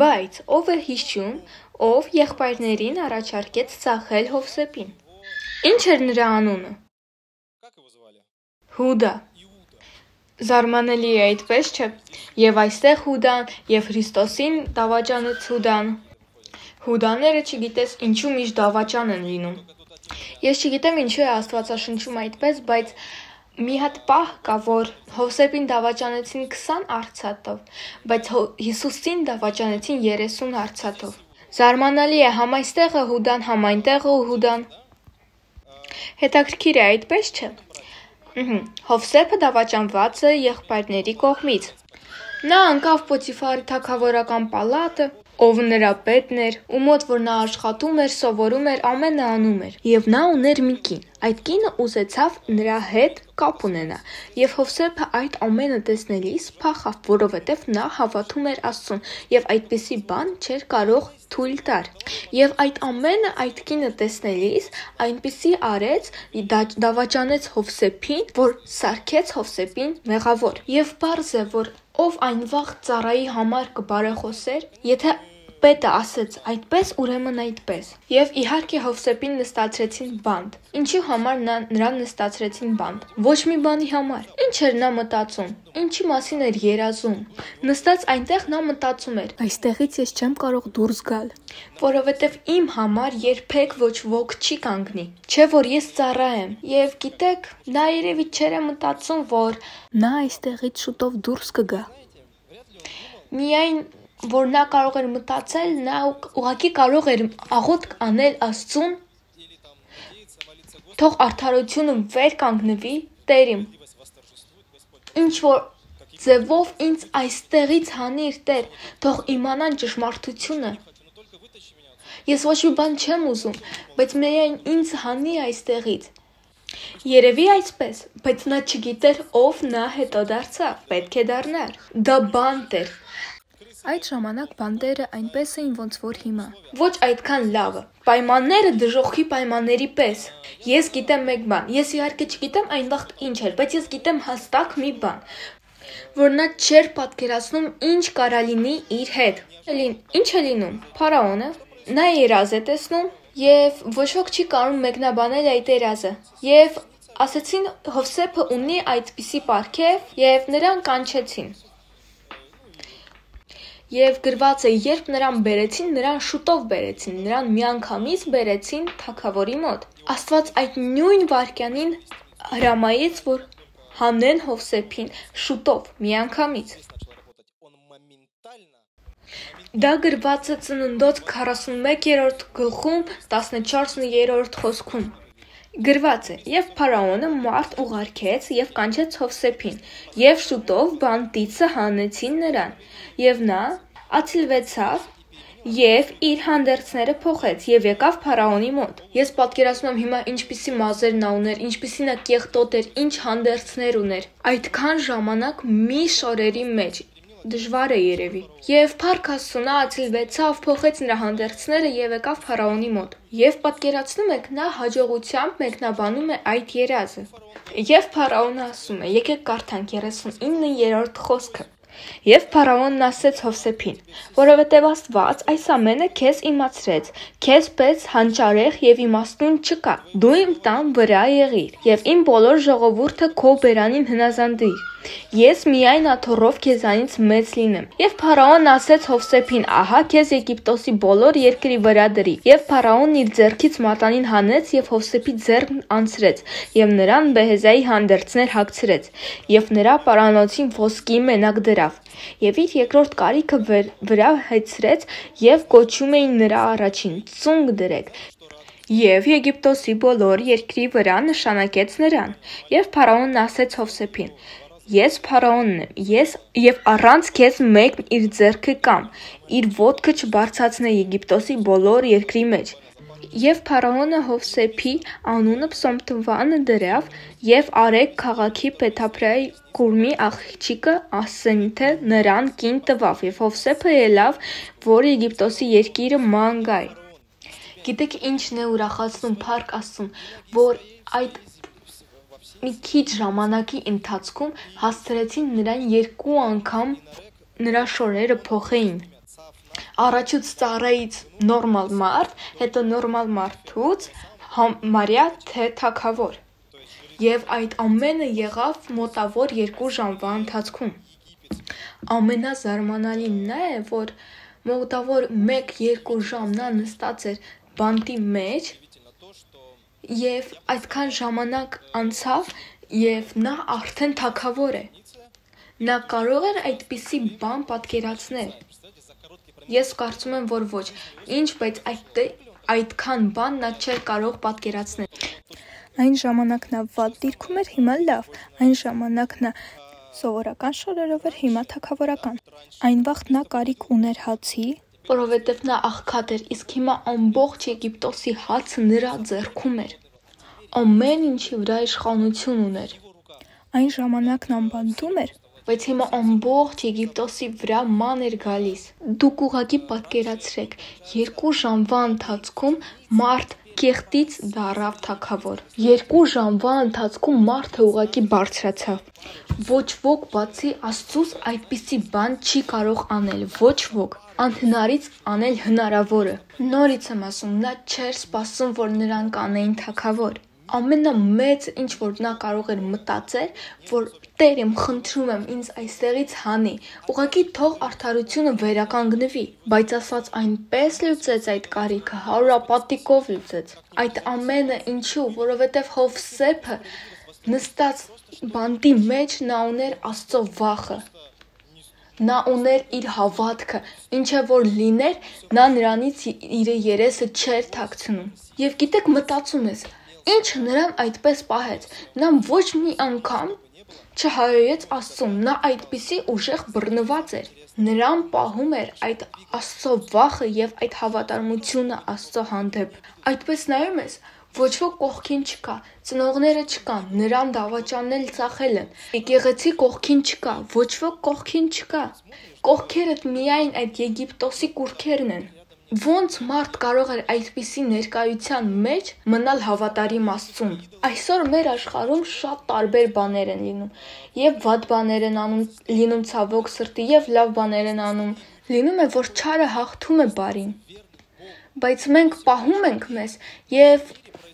Speaker 1: Բայց ով է հիշում, ով եղբայրներին առաջարկեց ծախել Հովսեփին։ Ինչ էր նրա անունը։ Հուդա։ Զարմանալի է, այդպես չէ։ Եվ այստեղ Հուդան, եւ Քրիստոսին դավաճանեց Հուդան։ Հուդաները չգիտես ինչու միշտ դավաճան են լինում։ Ես չգիտեմ ինչու է Աստվածաշնչում այդպես, բայց մի հատ պահ կա, որ Հովսեփին դավաճանեցին քսան արծաթով, բայց Հիսուսին դավաճանեցին երեսուն արծաթով։ Զարմանալի է, համ այստեղ է Հուդան, համ այնտեղ է Հուդան։ Հետաքրքիր է, այդպես չէ։ Հովսեփը դավաճանված է եղբայրների կողմից։ Նա անկավ Պոթիֆարի թագավորական պալատը, ով նրա պետն էր, ու մոտ որ նա աշխատում էր, սովորում էր, ամենը անում էր։ Եվ նա ուներ մի կին։ Այդ կինը ուզեցավ նրա հետ կապ ունենա։ Եվ Հովսեփը այդ ամենը տեսնելիս փախավ, որովհետև նա հավատում էր Աստծուն, եւ այդպիսի բան չէր կարող թույլ տար։ Եվ այդ ամենը այդ կինը տեսնելիս այնպիսի արեց, դավաճանեց Հովսեփին, որ սարքեց Հովսեփին մեղավոր։ Եվ պարզ է, որ ով այն վաղ ծառայի համար կբարեխոսեր, եթե պետը ասեց այդպես, ուրեմն այդպես։ Եվ իհարկե Հովսեփին նստացրեցին բանտ։ Ինչի համար նա նրան նստացրեցին բանտ։ Ոչ մի բանի համար։ Ինչ էր նա մտածում։ Ինչի մասին էր երազում։ Նստած այնտեղ նա մտածում էր. այստեղից ես չեմ կարող դուրս գալ, որովհետև իմ համար երբեք ոչ ոք չի կանգնի։ Չէ որ ես ծառա եմ։ Եվ գիտեք, նա երևի չէր մտածում, որ նա այստեղից շուտով դուրս կգա։ Միայն որ նա կարող էր մտածել, նա ուղղակի կարող էր աղոթք անել Աստծուն, թող արդարությունը վեր կանգնվի, Տեր իմ, ինչ որ ձևով ինձ այստեղից հանիր, Տեր, թող իմանան ճշմարտությունը։ Ես ոչ մի բան չեմ ուզում, բայց միայն ինձ հանի այստեղից։ Երևի այսպես, բայց նա չգիտեր ով նա հետո դարձավ, պետք է դառնար։ Դա բանտ էր։ Այդ ժամանակ բանտերը այնպես էին, ոնց որ հիմա։ Ոչ այդքան լավը։ Պայմանները դժոխքի պայմանների պես։ Ես գիտեմ մեկ բան։ Ես իհարկե չգիտեմ այն վաղ ինչ էր, բայց ես գիտեմ հստակ մի բան, որ նա չէր պատկերացնում ինչ կարա լինի իր հետ։ Ինչ է լինում։ Փարաոնը նա երազ է տեսնում եւ ոչ ոք չի կարող մեկնաբանել այդ երազը։ Եվ ասեցին Հովսեփը ունի այդպիսի պարգև եւ նրան կանչեցին։ Եվ գրված է, երբ նրան բերեցին, նրան շուտով բերեցին, նրան միանգամից բերեցին թագավորի մոտ։ Աստված այդ նույն վայրկյանին հրամայեց, որ հանեն Հովսեփին շուտով, միանգամից։ Դա գրված է Ծննդոց քառասունմեկերորդ գլխում տասնչորսերորդ խոսքում։ Գրված է, եւ Փարաոնը մարդ ուղարկեց եւ կանչեց Հովսեփին, եւ շուտով բանտիցը հանեցին նրան, եւ նա ացիլվեցավ Եվ իր հանդերձները փոխեց եւ եկավ Փարաոնի մոտ։ Ես պատկերացնում եմ հիմա ինչպիսի մազեր նա ուներ, ինչպիսի նա կեղտոտ էր, ինչ հանդերձներ ուներ։ Այդքան ժամանակ մի շորերի մեջ դժվար է երևի։ Եվ Փառք Աստծո ացիլվեցավ, փոխեց նրա հանդերձները եւ եկավ Փարաոնի մոտ։ Եվ պատկերացնում եք, նա հաջողությամբ մեկնաբանում է այդ երազը։ Եվ Փարաոնը ասում է. եկեք կարդանք երեսունիններորդ խոսքը։ Եվ Փարաոնն ասեց Հովսեփին, որովհետև Աստված այս ամենը քեզ իմացրեց, քեզ պես հանճարեղ եւ իմաստուն չկա, դու իմ տան վրա եղիր, եւ իմ բոլոր ժողովուրդը քո բերանին հնազանդիր, ես միայն աթոռով քեզանից մեծ լինեմ։ Եվ Փարաոնն ասեց Հովսեփին, ահա քեզ Եգիպտոսի բոլոր երկրի վրա դրի։ Եվ Փարաոնն իր ձեռքից մատանին հանեց եւ Հովսեփի ձեռքն անցրեց, եւ նրան Բեհեզայի հանդերձներ հագցրեց, եւ նրա պարանոցին ոսկի մենակ դրավ, եւ իր երկրորդ կարիքը վրա հեծրեց, եւ կոչում էին նրա առաջին ծունկ դրեք։ Եվ Եգիպտոսի բոլոր երկրի վրա նշանակեց նրան։ Եվ Փարաոնն ասեց Հովսեփին. Ես Փարաոնն եմ, ես եւ առանց քեզ մեկն իր ձեռքը կամ իր ոտքը չբարձրացնե Եգիպտոսի բոլոր երկրի մեջ։ Եվ Փարաոնը Հովսեփի անունը Պսոմթվանը դրավ եւ Արեգ քաղաքի Փեթափրայի Կուրմի աղջիկը Ասենթե նրան կին տվավ եւ Հովսեփը ելավ, որ Եգիպտոսի երկիրը ման գայ։ Գիտեք ինչն է ուրախացնում Փառք Աստծուն, որ այդ մի քիչ ժամանակի ընթացքում հասցրեցին նրան երկու անգամ նրա շորերը փոխեին։ Առաջուց ծառայից նորմալ մարդ, հետո նորմալ մարդուց Մարիա թե թագավոր։ Եվ այդ ամենը եղավ մոտավոր երկու ժամվա ընթացքում։ Ամենազարմանալին նա է, որ մոտավոր մեկ-երկու ժամ նա նստած էր բանտի մեջ եւ այդքան ժամանակ անցավ եւ նա արդեն թագավոր է։ Նա կարող էր այդպիսի բան պատկերացնել։ Ես կարծում եմ, որ ոչ, ինչ, բայց այդ այդքան բան նա չէր կարող պատկերացնել։
Speaker 3: Այն ժամանակ նա վատ դիրքում էր, հիմա լավ, այն ժամանակ նա սովորական շորերով էր, հիմա թագավորական։ Այն վաղ նա կարիք ուներ հացի,
Speaker 1: որովհետև նա աղքատ էր, իսկ հիմա ամբողջ Եգիպտոսի հացը նրա ձեռքում էր։ Ամեն ինչի վրա իշխանություն ուներ։
Speaker 3: Այն ժամանակն անբանտում էր,
Speaker 1: բայց հիմա ամբողջ Եգիպտոսի վրա ման էր գալիս։ Դուք ուղղակի պատկերացրեք, երկու ժամվա ընթացքում մարդ կեղտից դառավ թագավոր։ Երկու ժամվա ընթացքում մարդը ուղղակի բարձրացավ։ Ոչ ոք բացի Աստծուց այդպիսի բան չի կարող անել, ոչ ոք։ Անհնարից անել հնարավորը։ Նորից եմ ասում, նա չէր սպասում, որ նրան կանեին թագավոր։ Ամենամեծ ինչ որ նա կարող էր մտածել, որ Տեր եմ խնդրում եմ ինձ այստեղից հանի, ուղղակի թող արդարությունը վերականգնվի, բայց Աստված այնպես լուծեց այդ կարիքը, հարուրապատիկով լուծեց։ Այդ ամենը ինչու, որովհետև Հովսեփը նստած բանտի մեջ նա ուներ Աստծո վախը։ Նա ուներ իր հավատքը, ինչը որ լիներ, նա նրանից իր երեսը չէր թաքցնում։ Եվ գիտեք, մտածում ես, ինչը նրան այդպես պահեց, նա ոչ մի անգամ չհայոյեց Աստծուն, նա այդպիսի ուժեղ բռնված էր։ Նրան պահում էր այդ Աստծո վախը եւ այդ հավատարմությունը Աստծո հանդեպ։ Այդպես նայում ես, ոչ ոք կողքին չկա, ծնողները չկան, նրան դավաճանել ծախել են, եկեղեցի կողքին չկա, ոչ ոք կողքին չկա։ Կողքերդ միայն այդ Եգիպտոսի կուռքերն են։ Ոնց մարդ կարող էր այդպիսի ներկայության մեջ մնալ հավատարիմ Աստծուն։ Այսօր մեր աշխարհում շատ տարբեր բաներ են լինում, եւ վատ բաներ են անում, լինում ցավոք սրտի, եւ լավ բաներ են անում։ Լինում է, որ չարը հաղթում է բարին։ Բայց մենք պահում ենք մեզ եւ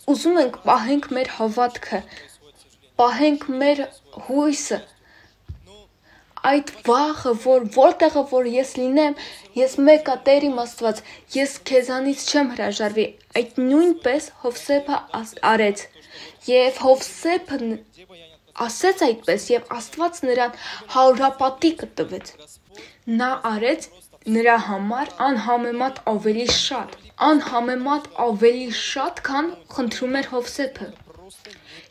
Speaker 1: ուզում ենք պահենք մեր հավատքը, պահենք մեր հույսը, այդ վախը, որ որտեղը որ ես լինեմ, ես մեկա Տեր իմ Աստված, ես քեզանից չեմ հրաժարվի, այդ նույնպես Հովսեփը արեց, եւ Հովսեփը ասեց այդպես, եւ Աստված նրան հարուրապատիկը տվեց, նա արեց նրա համար անհամեմատ ավելի շատ, անհամեմատ ավելի շատ, քան խնդրում էր Հովսեփը։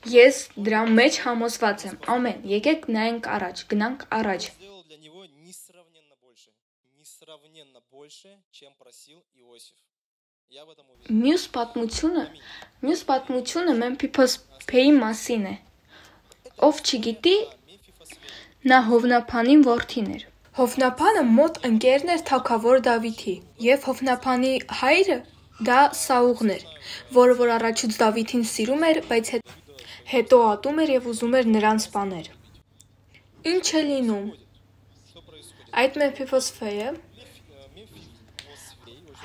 Speaker 1: Ես դրա մեջ համոզված եմ, ամեն, եկեք նայենք առաջ, գնանք առաջ։
Speaker 2: несравненно больше, чем просил Иосиф. Я в этом уверен.
Speaker 1: Մյուս պատմությունը, մյուս պատմությունը Մեմփիփոսփեի մասին է։ Ով չգիտի, նա Հովնափանին որդին էր։ Հովնափանը մոտ ընկերն էր թագավոր Դավիթի, եւ Հովնափանի հայրը դա Սաուղն էր, որը որ առաջուց Դավիթին սիրում էր, բայց հետո ատում էր եւ ուզում էր նրան սպանել։ Ինչ է լինում։ Այդ Մեմփիփոսփեյը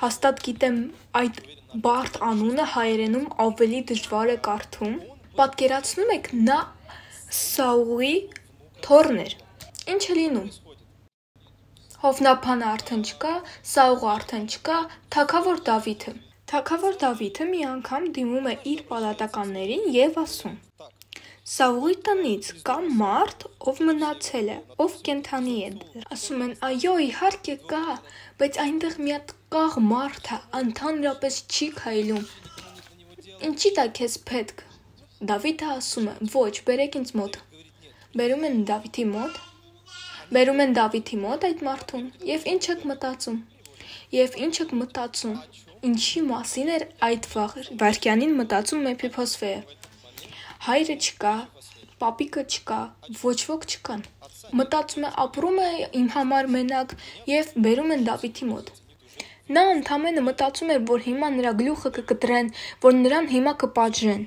Speaker 1: հաստատ գիտեմ այդ բարդ անունը հայերենում ավելի դժվար է կարդում։ Պատկերացնում եք, նա Սաուղի թոռն էր։ Ինչ է լինում։ Հովնափանը արդեն չկա, Սաուղը արդեն չկա, թագավոր Դավիթը։ Թագավոր Դավիթը մի անգամ դիմում է իր պալատականներին եւ ասում. Սաուղի տնից կա մարդ, ով մնացել է, ով կենդանի է։ Ասում են, այո, իհարկե կա, բայց այնտեղ մի հատ կաղ մարդ է, ընդհանրապես չի քայլում։ Ինչի՞ դա քեզ պետք։ Դավիթը ասում է, ոչ, բերեք ինձ մոտ։ Բերում են Դավիթի մոտ։ Բերում են Դավիթի մոտ այդ մարդուն, եւ ինչ եք մտածում։ Եվ ինչ եք մտածում։ Ինչի մասին էր այդ վայրկյանին մտածում Մեմփիփոսփեյը։ Հայրը չկա, պապիկը չկա, ոչ ոք չկան։ Մտածում է, ապրում է իմ համար մենակ եւ բերում են Դավիթի մոտ։ Նա ընդամենը մտածում էր, որ հիմա նրա գլուխը կկտրեն, որ նրան հիմա կպատժեն։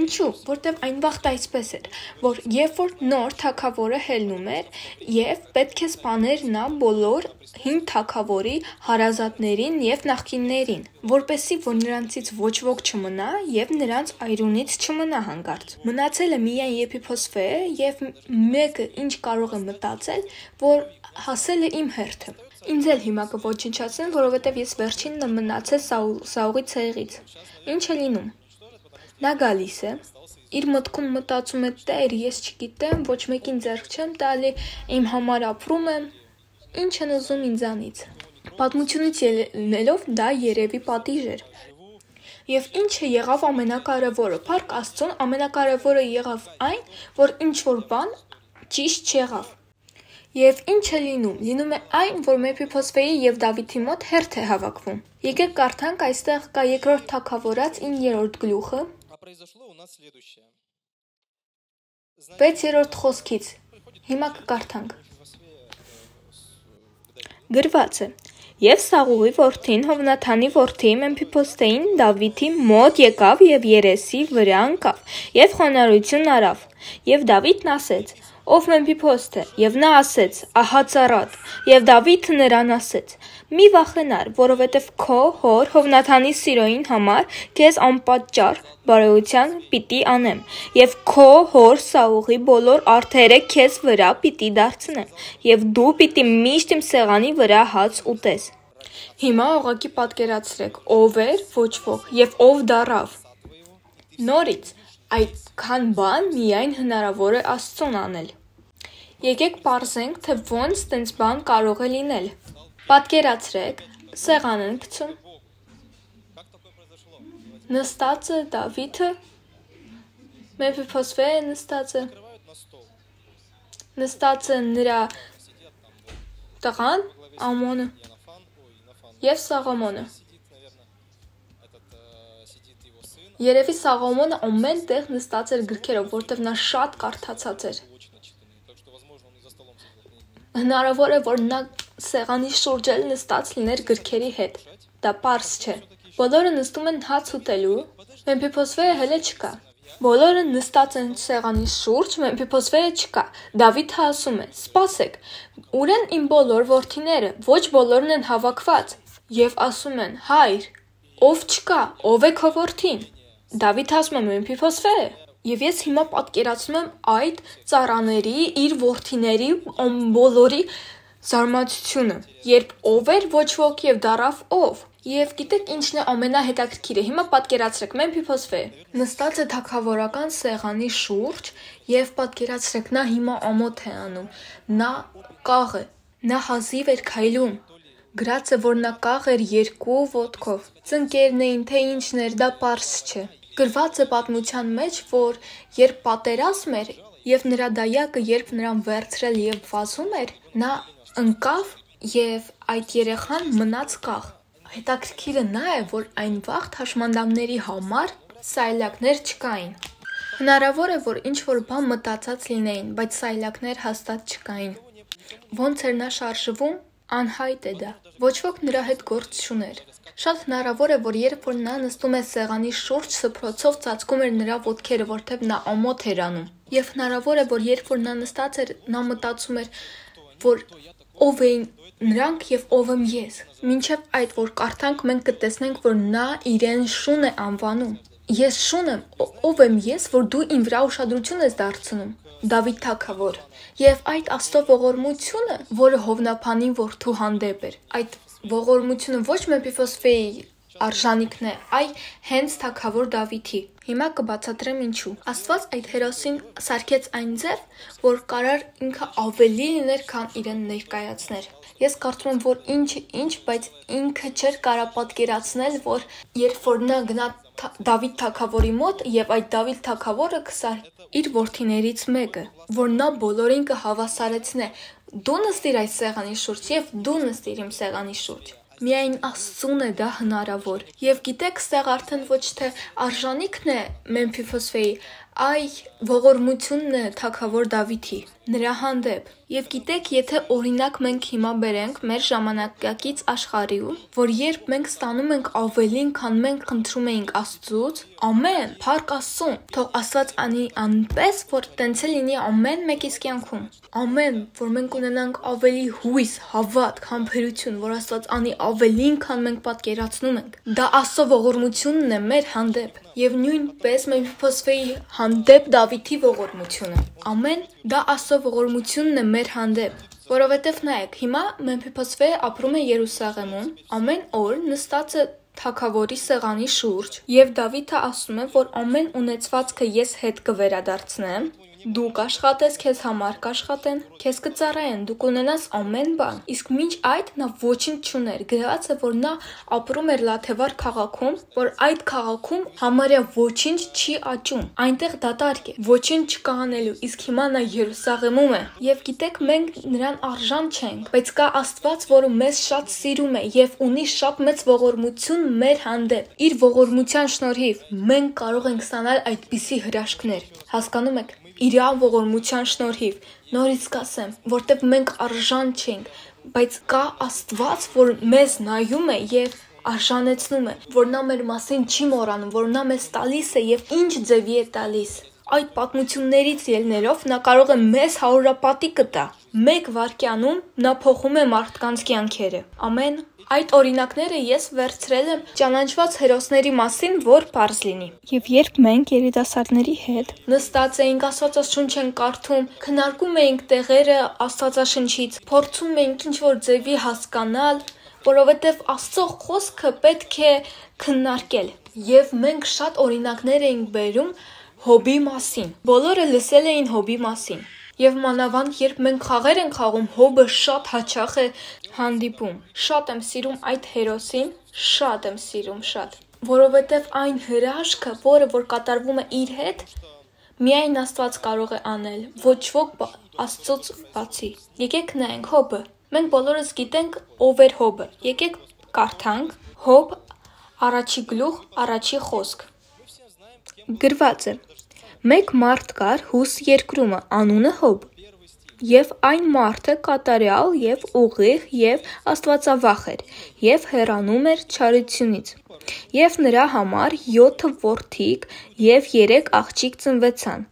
Speaker 1: Ինչու՞, որտեվ այն վաղտ այսպես էր, որ երբ որ նոր թագավորը հելնում էր եւ պետք է սպաներ նա բոլոր հին թագավորի հարազատներին եւ նախկիններին, որպեսզի որ նրանցից ոչ ոք չմնա եւ նրանց այրունից չմնա հանգարց։ Մնացել է միայն Եփիփոսփեյը եւ մեկը ինչ կարող է մտածել, որ հասել է իմ հերթը։ Ինձ էլ հիմա կոչնչացնեն, որովհետեւ ես վերջինն եմ մնացել Սաուղի ցեղից։ Ինչ է լինում։ Նա գալիս է, իր մտքում մտածում է, Տեր, ես չգիտեմ, ոչ մեկին ձեռք չեմ տալի, իմ համար ապրում եմ, ինչ են ուզում ինձանից։ Պատմությունից ելնելով դա երևի պատիժ էր։ Եվ ինչը եղավ ամենակարևորը, փառք Աստծուն, ամենակարևորը եղավ այն, որ ինչ որ բան ճիշտ չեղավ։ Եվ ինչ է լինում։ Լինում է այն, որ Մեմփիփոսփեյի եւ Դավիթի մոտ հերթ է հավաքվում։ Եկեք կարդանք, այստեղ կա երկրորդ թագավորաց իններորդ գլուխը։ վեցերորդ խոսքից։ Հիմա կկարդանք։ Գրված է. Եվ Սաղուղի որդին Հովնաթանի որդի Մեմփիփոսփեյին Դավիթի մոտ եկավ եւ երեսի վրա ընկավ եւ խոնարհություն արավ։ Եվ Դավիթն ասեց. Ով Մեմփիփոսփե, եւ նա ասեց. Ահա ծառատ։ Եվ Դավիթը նրան ասեց. Մի վախենար, որովհետև քո հոր Հովնաթանի սիրոյին համար քեզ անպատճառ բարեության պիտի անեմ, եւ քո հոր Սաուղի բոլոր արդերը քեզ վրա պիտի դարձնեմ, եւ դու պիտի միշտ իմ սեղանի վրա հաց ուտես։ Հիմա ուղղակի պատկերացրեք, ով էր ոչ ոք եւ ով դարավ։ Նորից այդքան բան միայն հնարավոր է Աստծուն անել։ Եկեք պարզենք, թե ոնց տենց բան կարող է լինել։ Պատկերացրեք, սեղան են գցում։ Նստած է Դավիթը, Մեմփիփոսփեյը նստած է։ Նստած է նրա տղան, Ամոնը եւ Սաղոմոնը։ Երևի Սաղոմոնը ամեն տեղ նստած էր գրքերով, որտեղ նա շատ կարդացած էր։ Հնարավոր է, որ նա սեղանի շուրջ էլ նստած լիներ գրքերի հետ։ Դա պարզ չէ։ Բոլորը նստում են հաց ուտելու, Մեմփիփոսփեյը հələ չկա։ Բոլորը նստած են սեղանի շուրջ, Մեմփիփոսփեյը չկա։ Դավիթը ասում է. «Սպասեք, ուր են իմ բոլոր որդիները, ոչ բոլորն են հավաքված»։ Եվ ասում են. «Հայր, ով չկա, ով է քո որդին»։ Դավիթը ասում է. «Մեմփիփոսփեյը»։ Եվ ես հիմա պատկերացնում եմ այդ ծառաների, իր որդիների բոլորի զարմացությունը, երբ ով էր ոչ ոք եւ դարավ ով։ Եվ գիտեք ինչն է ամենահետաքրքիրը, հիմա պատկերացրեք Մեմփիփոսփեյը նստած է թագավորական սեղանի շուրջ եւ պատկերացրեք նա հիմա ամոթ է անում, նա կաղ է, նա հազիվ էր քայլում, գրած է որ նա կաղ էր երկու ոտքով, ծնկերն էին թե ինչն էր, դա պարզ չէ։ Գրված է պատմության մեջ, որ երբ պատերազմ էր եւ նրա դայակը երբ նրան վերցրել եւ վազում էր, նա ընկավ եւ այդ երեխան մնաց կաղ։ Հետաքրքիրը նա է, որ այն վաղ հաշմանդամների համար սայլակներ չկային։ Հնարավոր է, որ ինչ-որ բան մտածած լինեին, բայց սայլակներ հաստատ չկային։ Ոնց էր նա շարժվում, անհայտ է դա։ Ոչ ոք նրա հետ գործ չուներ։ Շատ հնարավոր է, որ երբ որ նա նստում է սեղանի շուրջ, սփռոցով ծածկում էր նրա ոտքերը, որտեղ նա ամոթ էր անում։ Եվ հնարավոր է, որ երբ որ նա նստած էր, նա մտածում էր, որ ով էին նրանք եւ ով եմ ես։ Մինչեւ այդ որ կարդանք, մենք կտեսնենք, որ նա իրեն շուն է անվանում։ Ես շուն եմ, ով եմ ես, որ դու իմ վրա ուշադրություն ես դարձնում։ Դավիթ թագավոր։ Եվ այդ Աստծո ողորմությունը, որը Հովնափանի որդու հանդեպ էր, այդ ողորմությունը ոչ Մեմփիփոսֆեի արժանիքն է, այ հենց թագավոր Դավիթի։ Հիմա կբացատրեմ ինչու։ Աստված այդ հերոսին սարքեց այն ձև, որ կարար ինքը ավելի լիներ, քան իրեն ներկայացներ։ Ես կարծում եմ, որ ինչը ինչ, բայց ինքը չէր կարա պատկերացնել, որ երբ որ նա գնա Դավիթ թագավորի մոտ եւ այդ Դավիթ թագավորը կսար իր որդիներից մեկը, որ նա բոլորին կհավասարեցնե։ Դու նստիր այս սեղանի շուրջ եւ դու նստիր իմ սեղանի շուրջ։ Միայն Աստծուն է դա հնարավոր։ Եվ գիտեք, ստեղ արդեն ոչ թե արժանիքն է Մեմփիփոսֆեի, այ ողորմությունն է թագավոր Դավիթի նրա հանդեպ։ Եվ գիտեք, եթե օրինակ մենք հիմա բերենք մեր ժամանակակից աշխարհում, որ երբ մենք ստանում ենք ավելին, քան մենք խնդրում էինք Աստծուց, ամեն, փառք Աստծուն, թող Աստված անի անպես, որ տենց է լինի ամեն մեկիս կյանքում։ Ամեն, որ մենք ունենանք ավելի հույս, հավատք, համբերություն, որ Աստված անի ավելին, քան մենք պատկերացնում ենք։ Դա Աստծո ողորմությունն է մեր հանդեպ։ Եվ նույնպես Մեմփիփոսֆեի հանդեպ Դավիթի ողորմությունը։ Ամեն, դա Աստծո ողորմությունն է մեր հանդեպ։ Որովհետև նայեք, հիմա Մեմփիփոսֆեը ապրում է Երուսաղեմում, ամեն օր նստած է թագավորի սեղանի շուրջ, եւ Դավիթը ասում է, որ ամեն ունեցվածքը ես հետ կվերադարձնեմ, դու կաշխատես, քեզ համար կաշխատեն, քեզ կծառայեն, դու կունենաս ամեն բան։ Իսկ մինչ այդ նա ոչինչ չուներ, գրված է, որ նա ապրում էր Լաթեվար քաղաքում, որ այդ քաղաքում համարյա ոչինչ չի աճում, այնտեղ դատարկ է, ոչինչ չկա անելու, իսկ հիմա նա Երուսաղեմում է։ Եվ գիտեք, մենք նրան արժան չենք, բայց կա Աստված, որը մեզ շատ սիրում է եւ ունի շատ մեծ ողորմություն մեր հանդեպ։ Իր ողորմության շնորհիվ մենք կարող ենք ստանալ այդպիսի հրաշքներ։ Հասկանում եք։ Իրան ողորմության շնորհիվ, նորից կասեմ, որտեղ մենք արժան չենք, բայց կա Աստված, որ մեզ նայում է եւ արժանեցնում է, որ նա մեր մասին չի մոռանում, որ նա մեզ տալիս է եւ ինչ ձևի է տալիս։ Այդ պատմություններից ելնելով նա կարող է մեզ հարուրապատի կտա։ Մեկ վայրկյանում նա փոխում է մարդկանց կյանքերը։ Ամեն Այդ օրինակները ես վերցրել եմ ճանաչված հերոսների մասին, որ պարզ լինի։
Speaker 3: Եվ երբ մենք երիտասարդների հետ
Speaker 1: նստած էինք, Աստվածաշունչ ենք կարդում, քննարկում էինք տեղերը Աստվածաշնչից, փորձում էինք ինչ-որ ձևի հասկանալ, որովհետև Աստծո խոսքը պետք է քննարկել։ Եվ մենք շատ օրինակներ էինք բերում Հոբի մասին։ Բոլորը լսել էին Հոբի մասին։ Եվ մանավանդ երբ մենք խաղեր ենք խաղում, Հոբը շատ հաճախ է հանդիպում։ Շատ եմ սիրում այդ հերոսին, շատ եմ սիրում, շատ։ Որովհետև այն հրաշքը, որը որ կատարվում է իր հետ, միայն Աստված կարող է անել, ոչ ոք Աստծուց բացի։ Եկեք նայենք Հոբը։ Մենք բոլորս գիտենք ով էր Հոբը։ Եկեք կարդանք Հոբ առաջի գլուխ, առաջի խոսք։ Գրված է. Մեկ մարդ կար Հուս երկրումը, անունը Հոբ, եւ այն մարդը կատարյալ եւ ուղիղ եւ աստվածավախ էր, եւ հեռանում էր չարությունից։ Եվ նրա համար յոթ որդիկ եւ երեք աղջիկ ծնվեցան,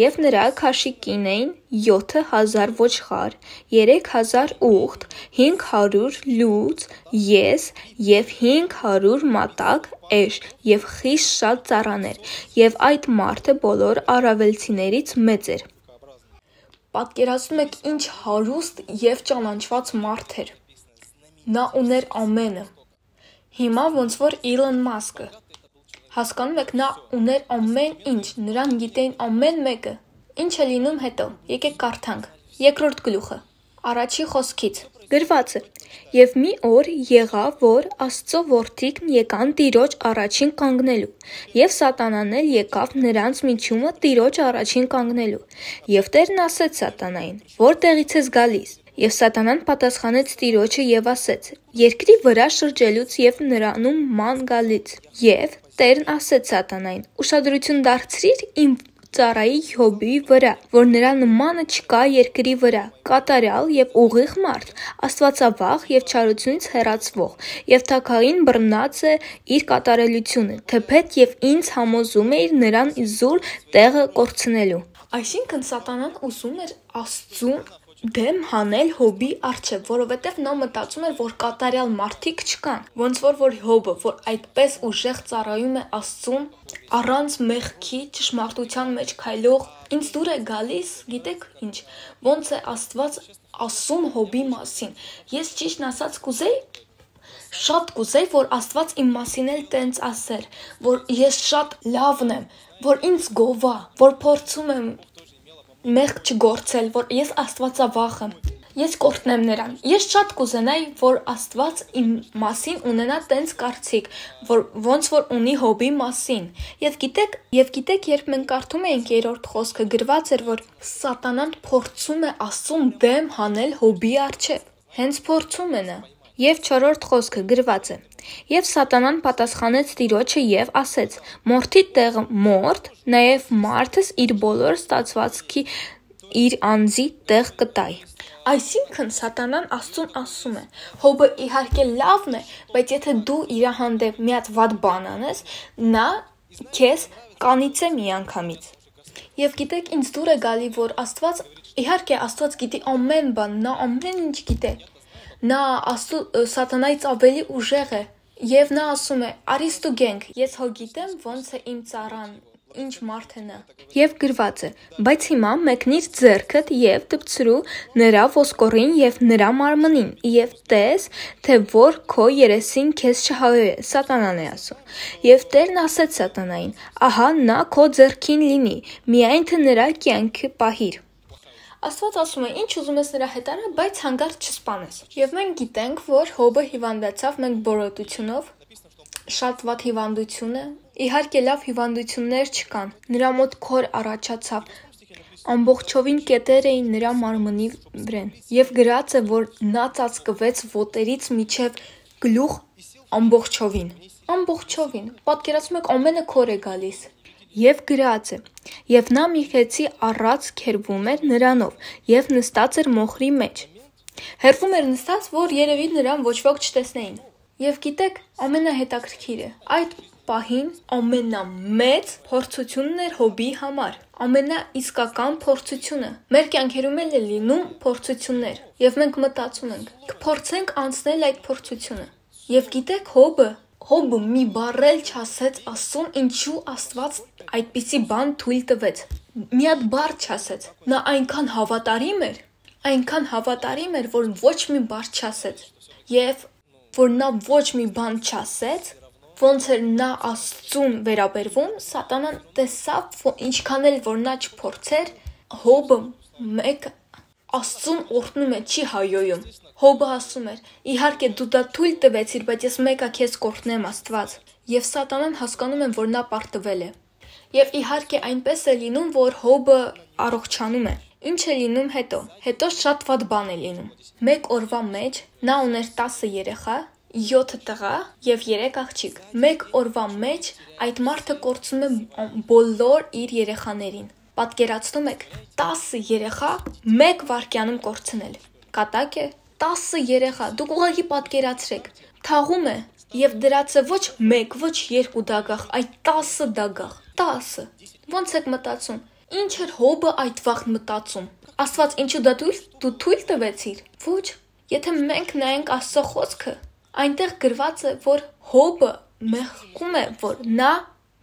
Speaker 1: եւ նրա քաշի կին էին յոթ հազար ոչխար, երեք հազար ուղտ, հինգ հարյուր լուծ, ես եւ հինգ հարյուր մատակ էշ եւ խիստ շատ ծառաներ, եւ այդ մարդը բոլոր արավելցիներից մեծ էր։ Պատկերացնում եք ինչ հարուստ եւ ճանաչված մարդ էր։ Նա ուներ ամենը։ Հիմա ոնց որ Իլոն Մասկը։ Հասկանում եք, նա ուներ ամեն ինչ, նրան գիտեին ամեն մեկը։ Ինչ է լինում հետո։ Եկեք կարդանք։ Երկրորդ գլուխը։ Առաջի խոսքից։ Գրված է. Եվ մի օր եղավ, որ Աստծո որդիկն եկան Տիրոջ առաջին կանգնելու, եւ Սատանան էլ եկավ նրանց միջումը Տիրոջ առաջին կանգնելու։ Եվ Տերն ասեց Սատանային. որտեղից ես գալիս։
Speaker 3: Եվ Սատանան պատասխանեց Տիրոջը եւ ասեց. Երկրի վրա շրջելուց եւ նրանում ման գալից։ Եվ Տերն ասեց Սատանային. ուշադրություն դարձրիր իմ ծառայի Յոբի վրա, որ նրա նմանը չկա երկրի վրա, կատարյալ եւ ուղիղ մարդ, աստվածավախ եւ չարությունից հեռացվող, եւ թագային բռնած է իր կատարելությունը, թեպետ եւ ինձ համոզում էիր նրան իզուր տեղը կորցնելու։ Այսինքն Սատանան ուզում էր Աստծուն դեմ հանել Հոբի առջև, որովհետև նա մտածում էր, որ կատարյալ մարդիկ չկան, ոնց որ որ Հոբը, որ այդպես ուժեղ ծառայում է Աստծուն, առանց մեղքի, ճշմարտության մեջ քայլող, ինձ դուր է գալիս, գիտեք ինչ, ոնց է Աստված ասում Հոբի մասին։ Ես ճիշտն ասած կուզեի, շատ կուզեի, որ Աստված իմ մասին էլ տենց ասեր, որ ես շատ լավն եմ, որ ինձ գովա, որ փորձում եմ մեղք չգործել, որ ես աստվածավախ եմ, ես կորտնեմ նրան։ Ես շատ կուզենայի, որ Աստված իմ մասին ունենա տենց կարծիք, որ ոնց որ ունի Հոբի մասին։ Եվ գիտեք, եւ գիտեք, երբ մենք կարդում էինք երրորդ խոսքը, գրված էր, որ Սատանան փորձում է Աստծուն դեմ հանել Հոբի առջև։ Հենց փորձում է նա։ Եվ չորրորդ խոսքը գրված է. Եվ Սատանան պատասխանեց Տիրոջը եւ ասեց. Մորթի տեղը մորթ, նաեւ մարդս իր բոլոր ստացվածքի իր անձի տեղ կտայ։ Այսինքն Սատանան Աստծուն ասում է. Հոբը իհարկե լավն է, բայց եթե դու իր հանդեպ մի հատ վատ բան անես, նա քեզ կանիծե միանգամից։ Եվ գիտեք, ինձ դուր է գալի, որ Աստված, իհարկե Աստված գիտի ամեն բան, նա ամեն ինչ գիտե։ Նա Աստծո Սատանայից ավելի ուժեղ է, եւ նա ասում է. «Արի ստուգենք, ես հո գիտեմ ոնց է իմ ծառան, ինչ մարդ է նա»։ Եվ գրված է. «Բայց հիմա մեկնիր ձեռքդ եւ դպցրու նրա ոսկորին եւ նրա մարմնին, եւ տես, թե որ քո երեսին քեզ չհայոյե»։ Սատանան է ասում։ Եվ Տերն ասեց Սատանային. «Ահա նա քո ձեռքին լինի, միայն թե նրա կյանքը պահիր»։ Աստված ասում է, ինչ ուզում ես նրա հետ արա, բայց հանգարց չսպանես։ Եվ մենք գիտենք, որ Հոբը հիվանդացավ մենք բորոտությունով, շատ վատ հիվանդություն է։ Իհարկե լավ հիվանդություններ չկան։ Նրա մոտ քոր առաջացավ, ամբողջովին կետեր էին նրա մարմնի վրեն։ Եվ գրած է, որ նա ծածկվեց ոտերից միջև գլուխ ամբողջովին։ Ամբողջովին։ Պատկերացնում եք, ամենը քոր է գալիս։ Եվ գրած է. Եվ նա մի խեցի առած քերվում էր նրանով, եւ նստած էր մոխրի մեջ։ Հերվում էր նստած, որ երևի նրան ոչ ոք չտեսնեին։ Եվ գիտեք, ամենահետաքրքիրը, այդ պահին ամենամեծ փորձությունն էր Հոբի համար, ամենաիսկական փորձությունը։ Մեր կյանքերում էլ է լինում փորձություններ, եւ մենք մտածում ենք, կփորձենք անցնել այդ փորձությունը։ Եվ գիտեք, Հոբը Հոբը մի բառ էլ չասեց Աստծուն, ինչու Աստված այդպիսի բան թույլ տվեց։ Մի հատ բառ չասեց։ Նա այնքան հավատարիմ էր, այնքան հավատարիմ էր, որ ոչ մի բառ չասեց։ Եվ որ նա ոչ մի բան չասեց, ոնց էր նա Աստծուն վերաբերվում, Սատանան տեսավ, ինչքան էլ որ նա չփորձեր, Հոբը մեկ Աստծուն օրհնում է, չի հայոյում։ Հոբը ասում էր. իհարկե դու դա թույլ տվեցիր, բայց ես մեկը քեզ կօրհնեմ Աստված։ Եվ Սատանան հասկանում է, որ նա պարտվել է։ Եվ իհարկե այնպես է լինում, որ Հոբը առողջանում է։ Ինչ է լինում հետո։ Հետո շատ վատ բան է լինում։ Մեկ օրվա մեջ նա ուներ տասը երեխա, յոթ տղա եւ երեք աղջիկ։ Մեկ օրվա մեջ այդ մարդը կորցնում է բոլոր իր երեխաներին։ Պատկերացնում եք, տասը երեխա մեկ վայրկյանում կորցնել։ Կատակ է, տասը երեխա, դուք ուղղակի պատկերացրեք, թաղում է եւ դրած է ոչ մեկ, ոչ երկու դագաղ, այլ տասը դագաղ, տասը։ Ոնց եք մտածում, ինչ էր Հոբը այդ վաղ մտածում։ Աստված ինչու դա դու դու թույլ տվեցիր։ Ոչ, եթե մենք նայենք Աստծո խոսքը, այնտեղ գրված է, որ Հոբը մեղքում է, որ նա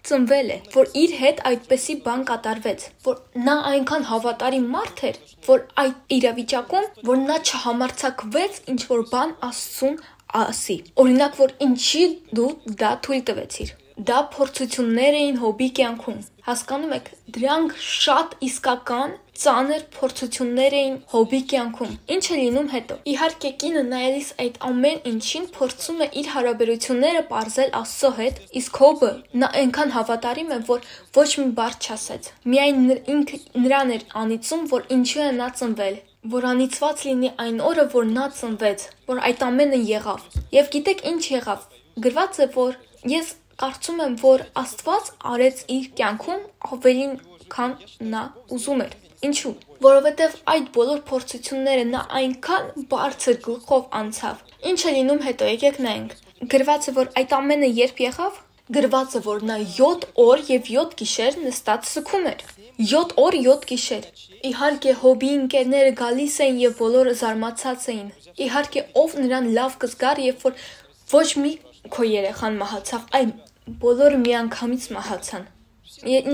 Speaker 3: ծնվել է, որ իր հետ այդպեսի բան կատարվեց, որ նա այնքան հավատարիմ մարդ էր, որ այդ իրավիճակում, որ նա չհամարձակվեց ինչ որ բան Աստծուն ասի։ Օրինակ, որ ինչի դու դա թույլ տվեցիր։ Դա փորձություններ էին Հոբի կյանքում։ Հասկանում եք, դրանք շատ իսկական ծանր փորձություններ էին Հոբի կյանքում։ Ինչ է լինում հետո։ Իհարկե կինը նայելիս այդ ամեն ինչին փորձում է իր հարաբերությունները պարզել Աստծո հետ, իսկ Հոբը նա այնքան հավատարիմ է, որ ոչ մի բառ չասեց։ Միայն ինքը նրան էր անիծում, որ ինչու է նա ծնվել։
Speaker 1: որ անիծված լինի այն օրը, որ նա ծնվեց, որ այդ ամենը եղավ։ Եվ գիտեք ինչ եղավ։ Գրված է, որ ես կարծում եմ, որ Աստված արեց իր կյանքում ավելին, քան նա ուզում էր։ Ինչու՞։ Որովհետև այդ բոլոր փորձությունները նա այնքան բարձր գլխով անցավ։ Ինչ է լինում հետո, եկեք նայենք։ Գրված է, որ այդ ամենը երբ եղավ, գրված է, որ նա յոթ օր եւ յոթ գիշեր նստած սգում էր։ յոթ օր, յոթ գիշեր։ Իհարկե հոբի ընկերները գալիս էին եւ բոլորը զարմացած էին։ Իհարկե ով նրան լավ կզգար, երբ որ ոչ մի քո երեխան մահացավ, այլ բոլորը միանգամից մահացան։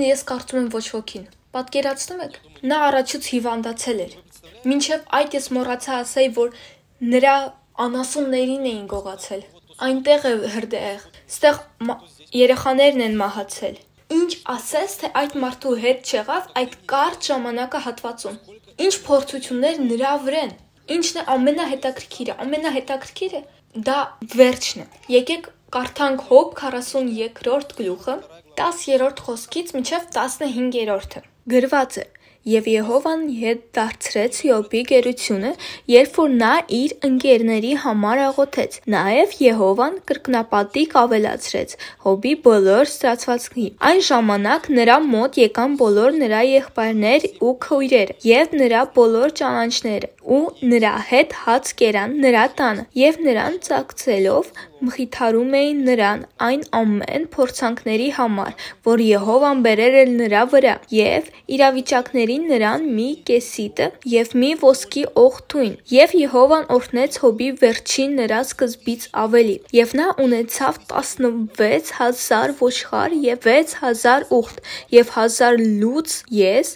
Speaker 1: Ես կարծում եմ ոչ ոքին։ Պատկերացնում եք, նա առաջուց հիվանդացել էր։ Մինչև այդ ես մոռացա ասել, որ նրա անասուններին էին գողացել։ Այնտեղ է հրդեհ, ստեղ երեխաներն են մահացել։ Ինչ ասես, թե այդ մարդու հետ չեղավ այդ կարճ ժամանակահատվածում։ Ինչ փորձություններ նրա վրան։ Ինչն է ամենահետաքրքիրը, ամենահետաքրքիրը դա վերջն է։ Եկեք կարդանք Հոբ քառասունյոթերորդ գլուխը, տասներորդ խոսքից մինչև տասնհինգերորդը։ Գրված է. Եվ Եհովան հետ դարձրեց Յոբի գերությունը, երբ որ նա իր ընկերների համար աղոթեց։ Նաև Եհովան կրկնապատիկ ավելացրեց Հոբի բոլոր ստացվածքի։ Այն ժամանակ նրա մոտ եկան բոլոր նրա եղբայրներ ու քույրերը և նրա բոլոր ճանաչները, ու նրա հետ հաց կերան նրա տանը, և նրան ծակցելով մխիթարում էին նրան այն ամեն փորձանքների համար, որ Եհովան բերել էր նրա վրա, և իրավիճակներին նրան մի կեսիտը և մի ոսկի օղթույն, և Եհովան օրհնեց Հոբի վերջին նրա սկզբից ավելի, և նա ունեցավ տասնվեց հազար ոչխար և վեց հազար ուղտ, և հազար լուծ ես,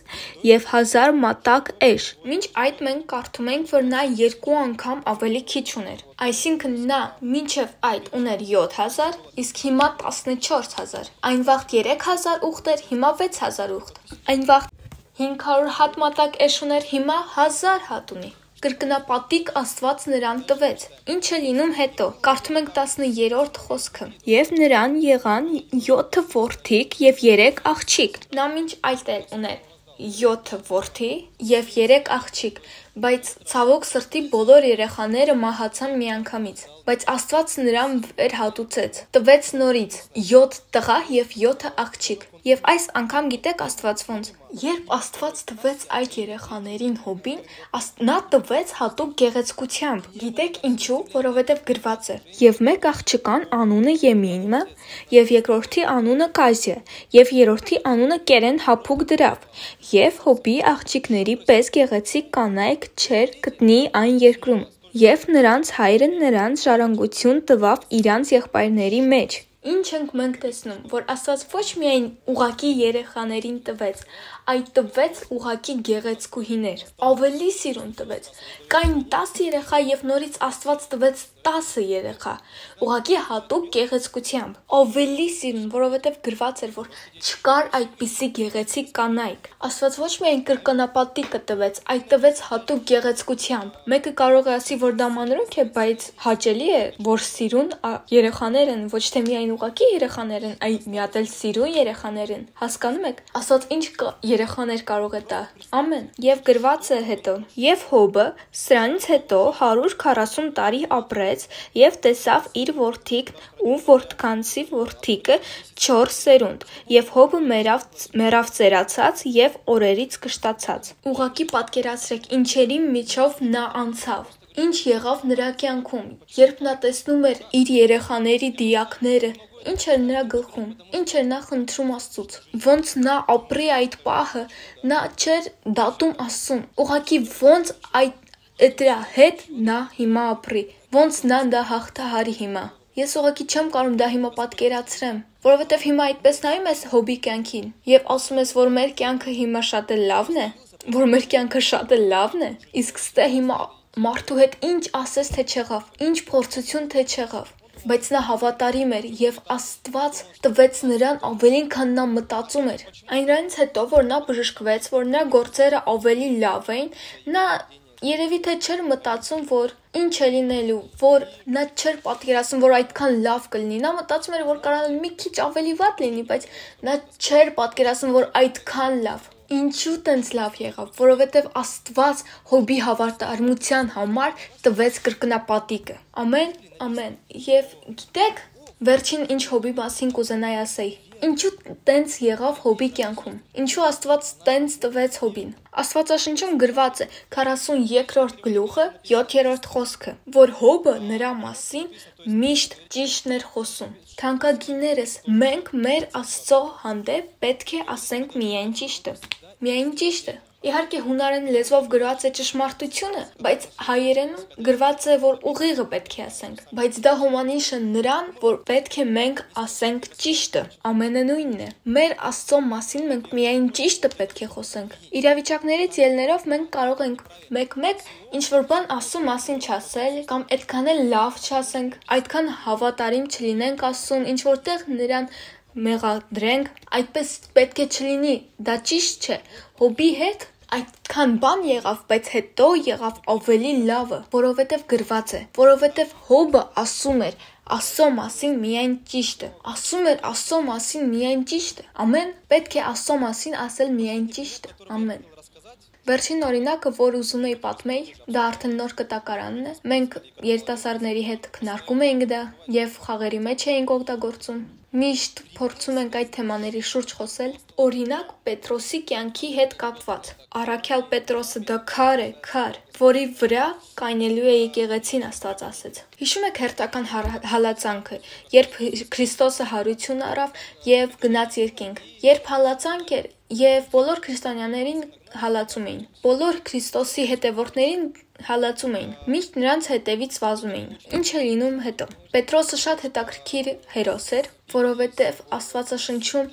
Speaker 1: և հազար մատակ էշ։ Մինչ այդ մենք կարդում ենք, որ նա երկու անգամ ավելի քիչ ուներ, այսինքն նա մինչև այդ ուներ յոթ հազար, իսկ հիմա տասնչորս հազար։ Այն վաղտ երեք հազար ուղտ էր, հիմա վեց հազար ուղտ։ Այն վաղտ հինգ հարյուր հատ մատակ էշ ուներ, հիմա հազար հատ ունի։ Կրկնապատիկ Աստված նրան տվեց։ Ինչ է լինում հետո։ Կարդում ենք տասներորդ խոսքը։ Եվ նրան եղան յոթ որդիկ և երեք աղջիկ։ Նա մինչ այդ էլ ուներ յոթ որդի և երեք աղջիկ, բայց ցավոք սրտի բոլոր երեխաները մահացան միանգամից։ Բայց Աստված նրան վերհատուցեց, տվեց նորից յոթ տղա և յոթ աղջիկ։ Եվ այս անգամ գիտեք Աստված ոնց։ Երբ Աստված տվեց այդ երեխաներին Հոբին, նա տվեց հատուկ գեղեցկությամբ։ Գիտեք ինչու։ Որովհետև գրված է. Եվ մեկ աղջկան անունը Եմինը, և երկրորդի անունը Կազիա, և երրորդի անունը կերեն հափուկ դրավ։ Եվ Հոբի աղջիկների պես գեղեցիկ կանայք չէր գտնի այն երկրում։ Եվ նրանց հայրը նրանց ժառանգություն տվավ իրանց եղբայրների մեջ։ Ինչ ենք մենք տեսնում, որ Աստված ոչ միայն ուղակի երեխաներին տվեց, այլ տվեց ուղակի գեղեցկուհիներ, ավելի սիրուն տվեց։ Կային տասը երեխա և նորից Աստված տվեց տասը երեխա, ուղակի հատուկ գեղեցկությամբ, ավելի սիրուն, որովհետև գրված էր, որ չկար այդպիսի գեղեցիկ կանայք։ Աստված ոչ միայն կրկնապատիկը տվեց, այլ տվեց հատուկ գեղեցկությամբ։ Մեկը կարող է ասի, որ դա մանրուք է, բայց հաճելի է, որ սիրուն երեխաներ են, ոչ թե միայն ուղակի երեխաներ են, այլ մի հատ էլ սիրուն երեխաներ են։ Հասկանում եք։ Աստված ինչ երեխաներ կարող է տա։ Ամեն։ Եվ գրված է հետո. Եվ Հոբը սրանից հետո հարյուր քառասուն տարի ապրեց և տեսավ իր որդիքն ու որդկանցի որդիկը չորս սերունդ, և Հոբը մեռավ, մեռավ ծերացած և օրերից կշտացած։ Ուղղակի պատկերացրեք ինչերի միջով նա անցավ։ Ինչ եղավ նրա կյանքում, երբ նա տեսնում էր իր երեխաների դիակները, ինչ էր նրա գլխում, ինչ էր նա խնդրում Աստծուց, ոնց նա ապրի այդ պահը, նա չէր դատում Աստծուն, ուղղակի ոնց այդ դրա հետ նա հիմա ապրի, ոնց նա դա հաղթահարի հիմա։ Ես ուղղակի չեմ կարող դա հիմա պատկերացրեմ, որովհետև հիմա այդպես նայում ես Հոբի կյանքին և ասում ես, որ մեր կյանքը հիմա շատ էլ լավն է, որ մեր կյանքը շատ էլ լավն է, իսկ ստե հիմա մարդու հետ ինչ ասես թե չեղավ, ինչ փորձություն թե չեղավ, բայց նա հավատարիմ էր և Աստված տվեց նրան ավելին, քան նա մտածում էր։ Այնրանից հետո, որ նա բժշկվեց, որ նրա գործերը ավելի լավ էին, նա երևի թե չէր մտածում, որ ինչ է լինելու, որ նա չէր պատկերացնում, որ այդքան լավ կլինի։ Նա մտածում էր, որ կարող է մի քիչ ավելի վատ լինի, բայց նա չէր պատկերացնում, որ այդքան լավ։ Ինչու տենց լավ եղավ, որովհետև Աստված Հոբի հավատարմության համար տվեց կրկնապատիկը։ Ամեն, ամեն։ Եվ գիտեք, վերջին ինչ Հոբի մասին կուզենայի ասեի։ Ինչու տենց եղավ Հոբի կյանքում։ Ինչու Աստված տենց տվեց Հոբին։ Աստվածաշնչում գրված է քառասուներորդ գլուխը յոթերորդ խոսքը, որ Հոբը նրա մասին միշտ ճիշտն էր խոսում։ Թանկագիններս, մենք մեր Աստծո հանդեպ պետք է ասենք միայն ճիշտը։ Միայն ճիշտը։ Իհարկե հունարեն լեզվով գրված է ճշմարտությունը, բայց հայերենում գրված է, որ ուղիղը պետք է ասենք։ Բայց դա հոմանիշ է նրան, որ պետք է մենք ասենք ճիշտը։ Ամենը նույնն է։ Մեր Աստծո մասին մենք միայն ճիշտը պետք է խոսենք։ Իրավիճակներից ելներով մենք կարող ենք մեկ-մեկ ինչ-որ բան Աստծո մասին չասել, կամ այդքան էլ լավ չասենք, այդքան հավատարիմ չլինենք Աստծուն, ինչ-որտեղ նրան մեղադրենք, այդպես պետք է չլինի, դա ճիշտ չէ։ Հոբի հետ այդքան բան եղավ, բայց հետո եղավ ավելի լավը, որովհետև գրված է, որովհետև Հոբը ասում էր Աստծո մասին միայն ճիշտը, ասում էր Աստծո մասին միայն ճիշտը, ամեն, պետք է Աստծո մասին ասել միայն ճիշտը, ամեն։ Վերջին օրինակը, որ ուզում էի պատմեի, դա արդեն նոր կտակարանն է, մենք երիտասարդների հետ քննարկում էինք դա և խաղերի մեջ էինք օգտագործում։ Միշտ փորձում ենք այդ թեմաների շուրջ խոսել, օրինակ Պետրոսի կյանքի հետ կապված։ Առաքյալ Պետրոսը դա քար է, քար, որի վրա կայնելու է եկեղեցին, Աստված ասեց։ Հիշում եք հերթական հալածանքը, երբ Քրիստոսը հարություն առավ և գնաց երկինք, երբ հալածանք էր և բոլոր քրիստոնյաներին հալածում էին, բոլոր Քրիստոսի հետևորդներին հալածում էին, միշտ նրանց հետևից վազում էին։ Ինչ է լինում հետո։ Պետրոսը շատ հետաքրքիր հերոս էր, որովհետև Աստվածաշնչում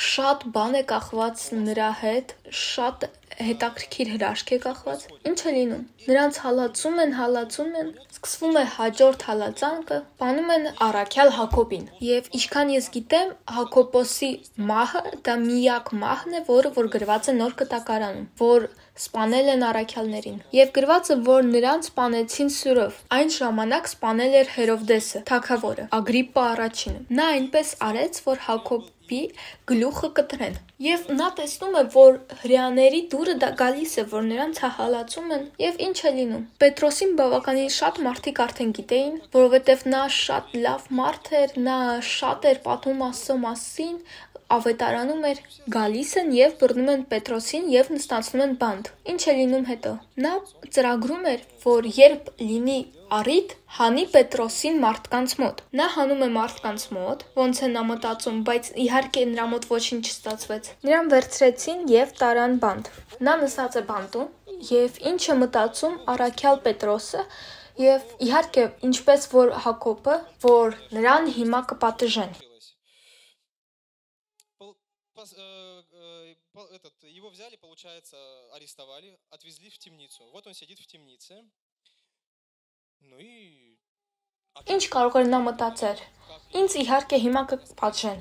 Speaker 1: շատ բան է կախված նրա հետ, շատ հետաքրքիր հրաշք է կախված։ Ինչ է լինում։ Նրանց հալածում են, հալածում են, սկսվում է հաջորդ հալածանքը, բանում են առաքյալ Հակոբին։ Եվ ինչքան ես գիտեմ, Հակոբոսի մահը դա միակ մահն է, որը որ գրված է նոր կտակարանում, որ սպանել են առաքյալներին։ Եվ գրված է, որ նրանց սպանեցին սուրով։ Այն ժամանակ սպանել էր Հերովդեսը, թագավորը, Ագրիպպա առաջինը։ Նա այնպես արեց, որ Հակոբի գլուխը կտրեն։ Եվ նա տեսնում է, որ հրեաների դուրը դա գալիս է, որ նրանց հալածում են, եւ ինչ է լինում։ Պետրոսին բավականին շատ մարդիկ արդեն գիտեին, որովհետեւ նա շատ լավ մարդ էր, նա շատ էր պատմում Աստծո մասին, ավետարանում էր, գալիս են եւ բռնում են Պետրոսին եւ նստացնում են բանտ։ Ինչ է լինում հետո։ Նա ծրագրում էր, որ երբ լինի առիթ, հանի Պետրոսին մարդկանց մոտ։ Նա հանում է մարդկանց մոտ, ոնց է նա մտածում, բայց իհարկե նրա մոտ ոչինչ չստացվեց։ Նրան վերցրեցին եւ տարան բանտ։ Նա նստած է բանտում եւ ինչ է մտածում առաքյալ Պետրոսը եւ իհարկե ինչպես որ Հակոբը, որ նրան հիմա կպատժեն։
Speaker 2: Этот, его взяли, получается, арестовали, отвезли в темницу. Вот он сидит в темнице. Ну и...
Speaker 1: Ինչ կարող էր նա մտածել։ Ինձ իհարկե հիմա կպատժեն։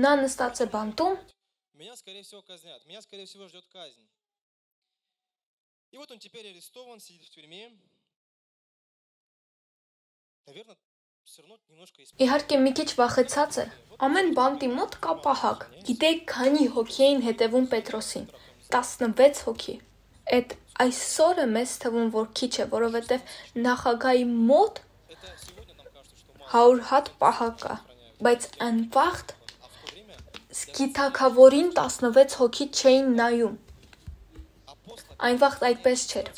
Speaker 1: Նա նստած է բանտում։
Speaker 2: Меня, скорее всего, казнят. Меня, скорее всего, ждет казнь. И вот он теперь арестован, сидит в тюрьме. Наверное, все равно немножко...
Speaker 1: Իհարկե մի քիչ վախեցած է։ Ամեն բանտի մոտ կա պահակ։ Գիտեք, քանի հոգի էին հետևում Պետրոսին։ տասնվեց հոգի։ Այդ այսօրը մեզ թվում, որ քիչ է, որովհետև նախագահի մոտ հարյուր հատ պահակ կա, բայց այն վաղտ սկիթակավորին տասնվեց հոգի չէին նայում։ Այն վաղտ այդպես չէր։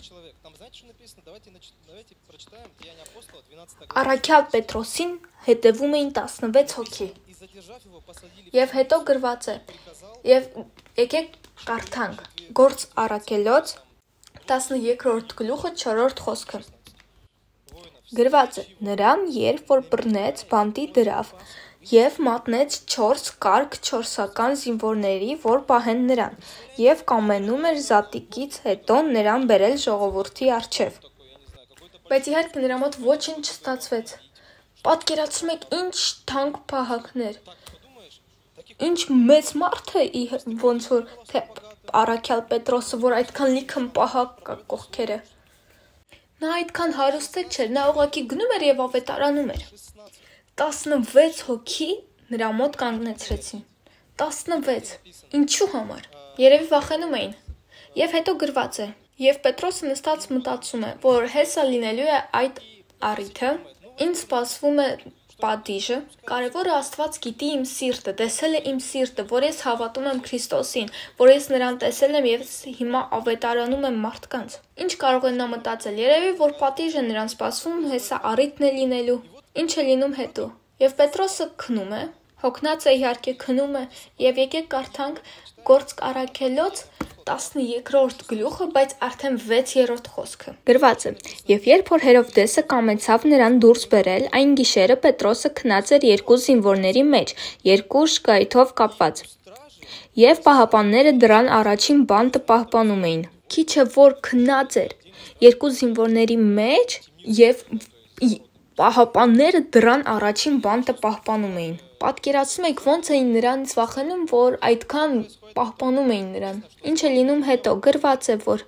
Speaker 1: Առաքյալ Պետրոսին հետևում էին տասնվեց հոգի։ Եվ հետո գրված է, եւ եկեք կարդանք, Գործ առաքելոց տասներորդ գլուխը չորրորդ խոսքը։ Գրված է, նրան երբ որ բռնեց, բանտի դրավ, եւ մատնեց չորս կարգ չորսական զինվորների, որ պահեն նրան, եւ կամենում էր զատիկից հետո նրան բերել ժողովրդի առջև։ Բայց իհարկե նրա մոտ ոչինչ չստացվեց։ Պատկերացնում եք ինչ թանկ պահակներ։ Ինչ մեծ մարդ է, ոնց որ թե առաքյալ Պետրոսը, որ այդքան լիքը պահակ կա կողքերը։ Նա այդքան հարուստ չէր, նա ուղղակի գնում էր եւ ավետարանում էր։ տասնվեց հոգի նրա մոտ կանգնեցրեցին։ տասնվեց։ Ինչու համար։ Երևի վախենում էին։ Եվ հետո գրված է. Եվ Պետրոսը նստած մտածում է, որ հեսա լինելու է այդ առիթը, ինձ սպասվում է պատիժը, կարևորը Աստված գիտի իմ սիրտը, տեսել է իմ սիրտը, որ ես հավատում եմ Քրիստոսին, որ ես նրան տեսել եմ և հիմա ավետարանում եմ մարդկանց։ Ինչ կարող է նա մտածել, երևի որ պատիժը նրան սպասվում, հեսա առիթն է լինելու, ինչ է լինում հետո։ Եվ Պետրոսը քնում է, հոգնած է իհարկե քնում է, և եկեք կարդանք Գործք առաքելոց տասներորդ գլուխը, բայց արդեն վեցերորդ խոսքը։
Speaker 3: Գրված է. Եվ երբ որ Հերովդեսը կամեցավ նրան դուրս բերել, այն գիշերը Պետրոսը քնած էր երկու զինվորների մեջ, երկու շկայթով կապված։ Եվ պահապանները դռան առաջին բանտը պահպանում էին։ Քիչը որ քնած էր երկու զինվորների մեջ և պահապանները դռան առաջին բանտը պահպանում էին։ Պատկերացնում եք ոնց էին նրանից վախենում, որ այդքան պահպանում էին նրան։ Ինչ է լինում հետո, գրված է, որ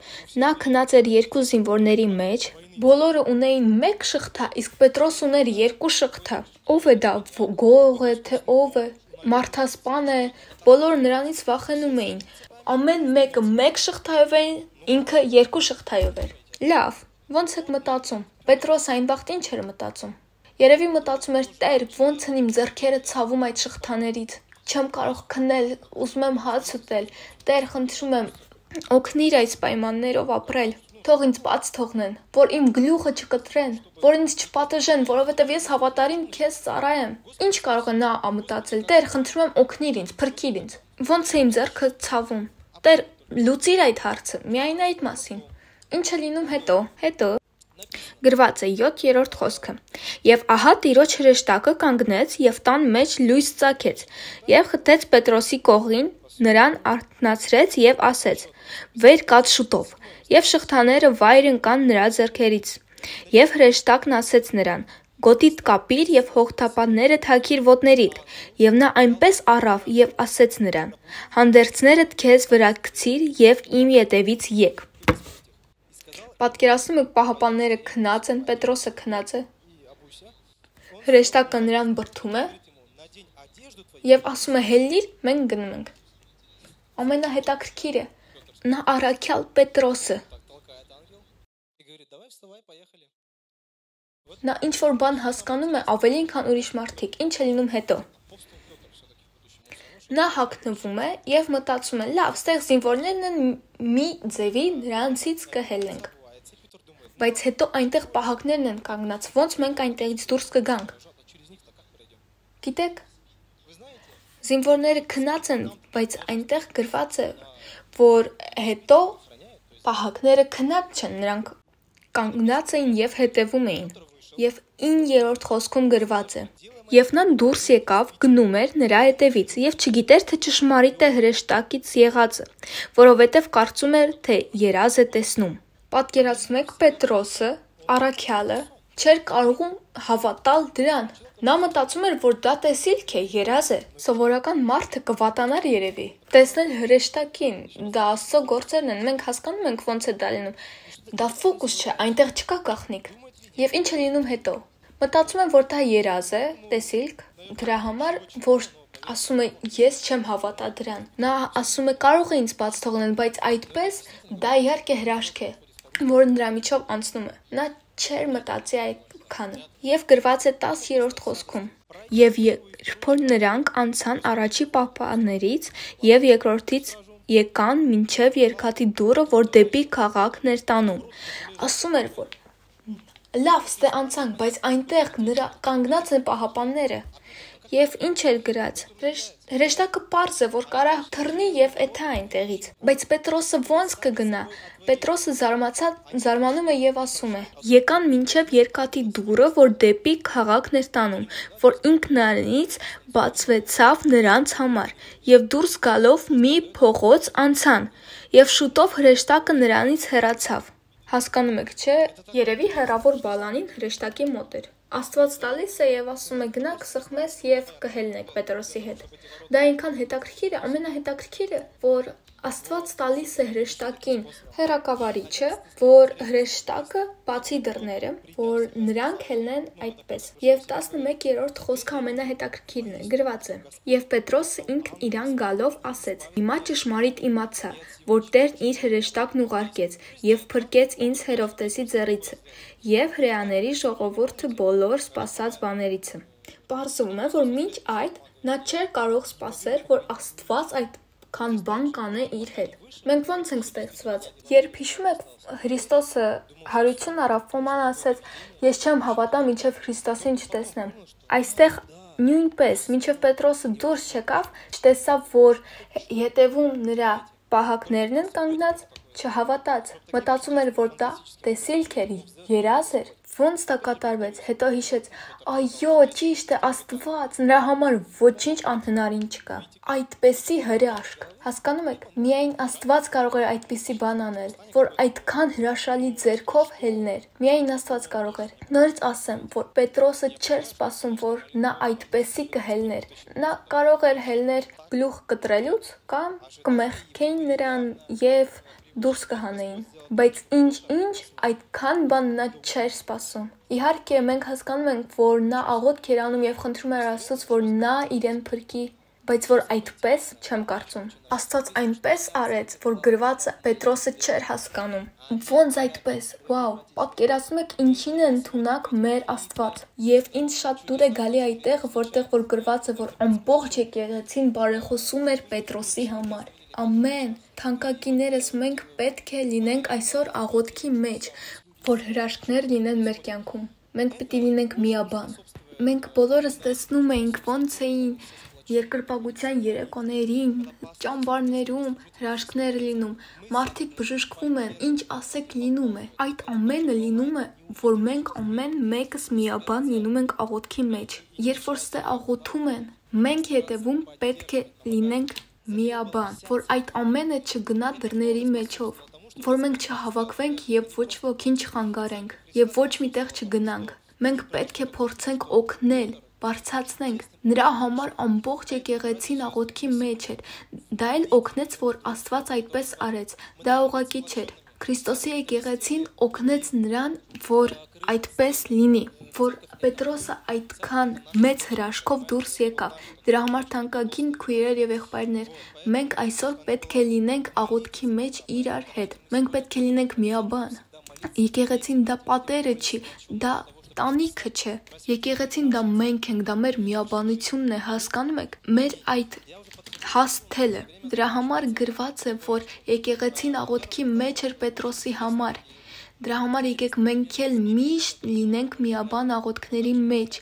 Speaker 3: նա քնած էր երկու զինվորների մեջ, բոլորը ունեին մեկ շղթա, իսկ Պետրոս ուներ երկու շղթա։ Ո՞վ է դա, գող է, թե ով է, մարդասպան է, բոլորը նրանից վախենում էին։ Ամեն մեկը մեկ շղթայով էին, ինքը երկու շղթայով էր։ Լավ, ոնց եք մտածում։ Պետրոս այն վաղտ ինչ էր մտածում։ Երևի մտածում էր Տեր, ոնց են իմ ձեռքերը ցավում այդ շղթաներից։ Չեմ կարող քնել, ուզում եմ հաց ուտել։ Տեր, խնդրում եմ, օգնիր այս պայմաններով ապրել։ Թող ինձ բաց թողնեն, որ իմ գլուխը չկտրեն, որ ինձ չպատժեն, որովհետև ես հավատարիմ քեզ ծառա եմ։ Ինչ կարող է նա մտածել։ Տեր, խնդրում եմ, օգնիր ինձ, փրկիր ինձ։ Ոնց է իմ ձեռքը ցավում։ Տեր, լուծիր այդ հարցը, միայն այդ մասին։ Ինչ է լինում հետո։ Հետո գրված է յոթերորդ խոսքը։ Եվ ահա Տիրոջ հրեշտակը կանգնեց և տան մեջ լույս ծագեց, և խթեց Պետրոսի կողին, նրան արթնացրեց և ասեց. վեր կաց շուտով, և շղթաները վայր ընկան նրա ձեռքերից։ Եվ հրեշտակն ասեց նրան. գոտիդ կապիր և հողթապանները թաքիր ոտներիդ, և նա այնպես առավ և ասեց նրան. հանդերձներդ քեզ վրա գցիր և իմ ետևից եկ։
Speaker 1: Պատկերացնում եք պահապանները քնած են, Պետրոսը քնած է, հրեշտակը նրան բրդում է և ասում է հելլիր, մենք գնում ենք։ Ամենահետաքրքիրը, նա առաքյալ Պետրոսը։ Նա ինչ-որ բան հասկանում է ավելի քան ուրիշ մարդիկ, ինչ է լինում հետո։ Նա հագնվում է և մտածում է, լավ, ստեղ զինվորներն են մի ձևի նրանցից կհելենք։ Բայց հետո այնտեղ պահակներն են կանգնած, ոնց մենք այնտեղից դուրս կգանք։ Գիտեք, զինվորները քնած են, բայց այնտեղ գրված է, որ հետո պահակները քնած չեն, նրանք կանգնած էին և հետևում էին։ Եվ իններորդ խոսքում գրված է. Եվ նա դուրս եկավ, գնում էր նրա հետևից, և չգիտեր, թե ճշմարիտ է հրեշտակից եղածը, որովհետև կարծում էր, թե երազ է տեսնում։ Պատկերացնում եք Պետրոսը, առաքյալը, չէր կարողում հավատալ դրան։ Նա մտածում էր, որ դա տեսիլք է, երազ է, սովորական մարդը կվատանար երևի։ Տեսնել հրեշտակին, դա Աստծո գործերն են, մենք հասկանում ենք ոնց է դա լինում։ Դա ֆոկուս չէ, այնտեղ չկա գաղտնիք։ Եվ ինչ է լինում հետո։ Մտածում եմ, որ դա երազ է, տեսիլք, դրա համար, որ ասում է, ես չեմ հավատա դրան։ Նա ասում է, կարող է ինձ բաց թողնել, բայց այդպես դա իհարկե հրաշք է, որը նրա միջով անցնում է։ Նա չէր մտածի այդ քանը։ Եվ գրված է տասներորդ խոսքում. Եվ երբ որ նրանք անցան առաջի պահապաններից և երկրորդից եկան մինչև երկաթի դուռը, որ դեպի քաղաքն էր տանում։ Ասում էր, որ լավ, ստե անցանք, բայց այնտեղ նրա կանգնած են պահապանները։ Եվ ինչ էր գրած։ Հրեշտակը պարզ է, որ կարա թռնի և էթա այնտեղից։ Բայց Պետրոսը ոնց կգնա։ Պետրոսը զարմանում է և ասում է. եկան մինչև երկաթի դուռը, որ դեպի քաղաքն էր տանում, որ ինքնանից բացվեցավ նրանց համար, և դուրս գալով մի փողոց անցան, և շուտով հրեշտակը նրանից հեռացավ։ Հասկանում եք, չէ՞, երևի հեռավոր բալանին հրեշտակի մոտ էր։ Աստված տալիս է և ասում է գնաք սխմես և կհելնեք Պետրոսի հետ։ Դա այնքան հետաքրքիր է, ամենահետաքրքիրը, որ
Speaker 3: Աստված տալիս է հրեշտակին հեռակավարիչը, որ հրեշտակը բացի դռները, որ նրանք ելնեն այդպես։ Եվ տասնմեկերորդ խոսքը ամենահետաքրքիրն է, գրված է. «Եվ Պետրոսը ինքն իրան գալով ասեց. Հիմա ճշմարիտ իմացա, որ Տերն իր հրեշտակն ուղարկեց և փրկեց ինձ Հերովդեսի ձեռիցը և հրեաների ժողովուրդը բոլոր սպասած բաներիցը»։ Պարզվում է, որ մինչ այդ նա չէր կարող սպասել, որ Աստված այդքան բան կանե իր հետ։ Մենք ո՞նց ենք ստեղծված։ Երբ հիշում եք, Քրիստոսը հարություն առավ, Ֆոման ասեց. «Ես չեմ հավատա, մինչև Քրիստոսին չտեսնեմ»։ Այստեղ նույնպես, մինչև Պետրոսը դուրս չեկավ, չտեսավ, որ հետևում նրա պահակներն են կանգնած, չհավատաց, մտածում էր, որ դա տեսիլք էր, երազ էր։ Ոնց դա կատարվեց, հետո հիշեց, այո, ճիշտ է, Աստված, նրա համար ոչինչ անհնարին չկա։ Այդպեսի հրաշք, հասկանում եք, միայն Աստված կարող էր այդպիսի բան անել, որ այդքան հրաշալի ձեռքով հելներ, միայն Աստված կարող էր։ Նորից ասեմ, որ Պետրոսը չէր սպասում, որ նա այդպեսի կհելներ, նա կարող էր հելներ գլուխ կտրելուց կամ կմեղքեին նրան և դուրս կհանեին, բայց ինչ-ինչ այդքան բան նա չէր սպասում։ Իհարկե, մենք հասկանում ենք, որ նա աղոթք էր անում և խնդրում էր Աստծուց, որ նա իրեն փրկի, բայց որ այդպես չեմ կարծում։ Աստված այնպես արեց, որ գրվածը Պետրոսը չէր հասկանում։ Ոնց այդպես։ Վաու, պատկերացնում եք ինչին է ընդունակ մեր Աստված։ Եվ ինձ շատ դուր է գալի այդտեղ, որտեղ որ գրված է, որ ամբողջ եկեղեցին բարեխոսում էր Պետրոսի համար։ Ամեն, թանկագիներս, մենք պետք է լինենք այսօր աղոթքի մեջ, որ հրաշքներ լինեն մեր կյանքում։ Մենք պետք է լինենք միաբան։ Մենք բոլորս տեսնում էինք ոնց էին երկրպագության երեկոներին, ճամբարներում հրաշքներ լինում, մարդիկ բժշկվում են, ինչ ասեք լինում է։ Այդ ամենը լինում է, որ մենք ամեն մեկս միաբան լինում ենք աղոթքի մեջ։ Երբ որ ստե աղոթում են, մենք հետևում պետք է լինենք միաբան, որ այդ ամենը չգնա դռների մեջով, որ մենք չհավաքվենք և ոչ ոքին չխանգարենք և ոչ միտեղ չգնանք։ Մենք պետք է փորձենք օգնել, բարձրացնենք։ Նրա համար ամբողջ եկեղեցին աղոթքի մեջ էր։ Դա էլ օգնեց, որ Աստված այդպես արեց։ Դա ուղղակի չէր։ Քրիստոսի եկեղեցին օգնեց նրան, որ այդպես լինի, որ Պետրոսը այդքան մեծ հրաշքով դուրս եկավ։ Դրա համար թանկագին քույրեր եւ եղբայրներ, մենք այսօր պետք է լինենք աղոթքի մեջ իրար հետ։ Մենք պետք է լինենք միաբան։ Եկեղեցին դա պատերը չի, դա տանիքը չէ։ Եկեղեցին դա մենք ենք, դա մեր միաբանությունն է, հասկանում եք։ Մեր այդ հասթելը։ Դրա համար գրված է, որ եկեղեցին աղոթքի մեջ էր Պետրոսի համար։ Դրա համար եկեք մենք էլ միշտ լինենք միաբան աղոթքների մեջ,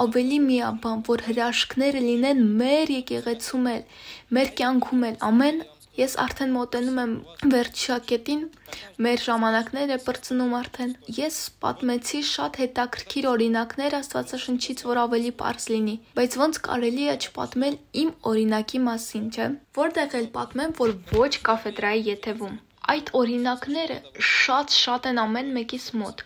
Speaker 3: ավելի միաբան, որ հրաշքները լինեն մեր եկեղեցում էլ, մեր կյանքում էլ, ամեն։ Ես արդեն մոտենում եմ վերջակետին, մեր ժամանակներ է պրծնում արդեն։ Ես պատմեցի շատ հետաքրքիր օրինակներ Աստվածաշնչից, որ ավելի պարզ լինի, բայց ոնց կարելի է չպատմել իմ օրինակի մասին, չէ՞։ Որտեղ էլ պատմեմ, որ ոչ կաֆեդրայի եթևում։ Այդ օրինակները շատ-շատ են ամեն մեկիս մոտ։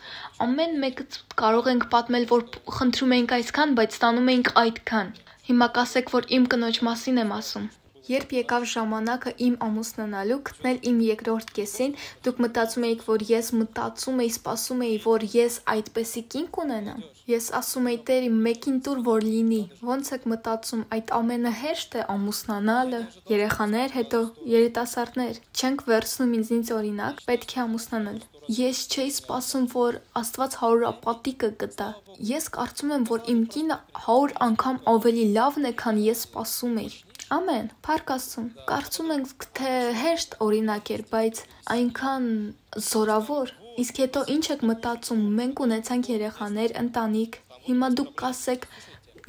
Speaker 3: Ամեն մեկը կարող ենք պատմել, որ խնդրում էինք այսքան, բայց ստանում էինք այդքան։ Հիմա կասեք, որ իմ կնոջ մասին եմ ասում։ Երբ եկավ ժամանակը իմ ամուսնանալու, գտնել իմ երկրորդ կեսին, դուք մտածում էիք, որ ես մտածում էի, սպասում էի, որ ես այդպեսի կինք ունենամ։ Ես ասում էի, Տեր, իմ մեկին տուր, որ լինի։ Ոնց եք մտածում, այդ ամենը հեշտ է ամուսնանալը, երեխաներ, հետո երիտասարդներ։ Չենք վերցնում ինձնից օրինակ, պետք է ամուսնանալ։ Ես չէի սպասում, որ Աստված հարուրապատիկը կտա։ Ես կարծում եմ, որ իմ կինը հարյուր անգամ ավելի լավն է, քան ես սպասում էի։ Ամեն, փառք Աստծուն։ Կարծում ենք, թե հեշտ օրինակ էր, բայց այնքան զորավոր։ Իսկ հետո ինչ եք մտածում, մենք ունեցանք երեխաներ, ընտանիք։ Հիմա դուք կասեք,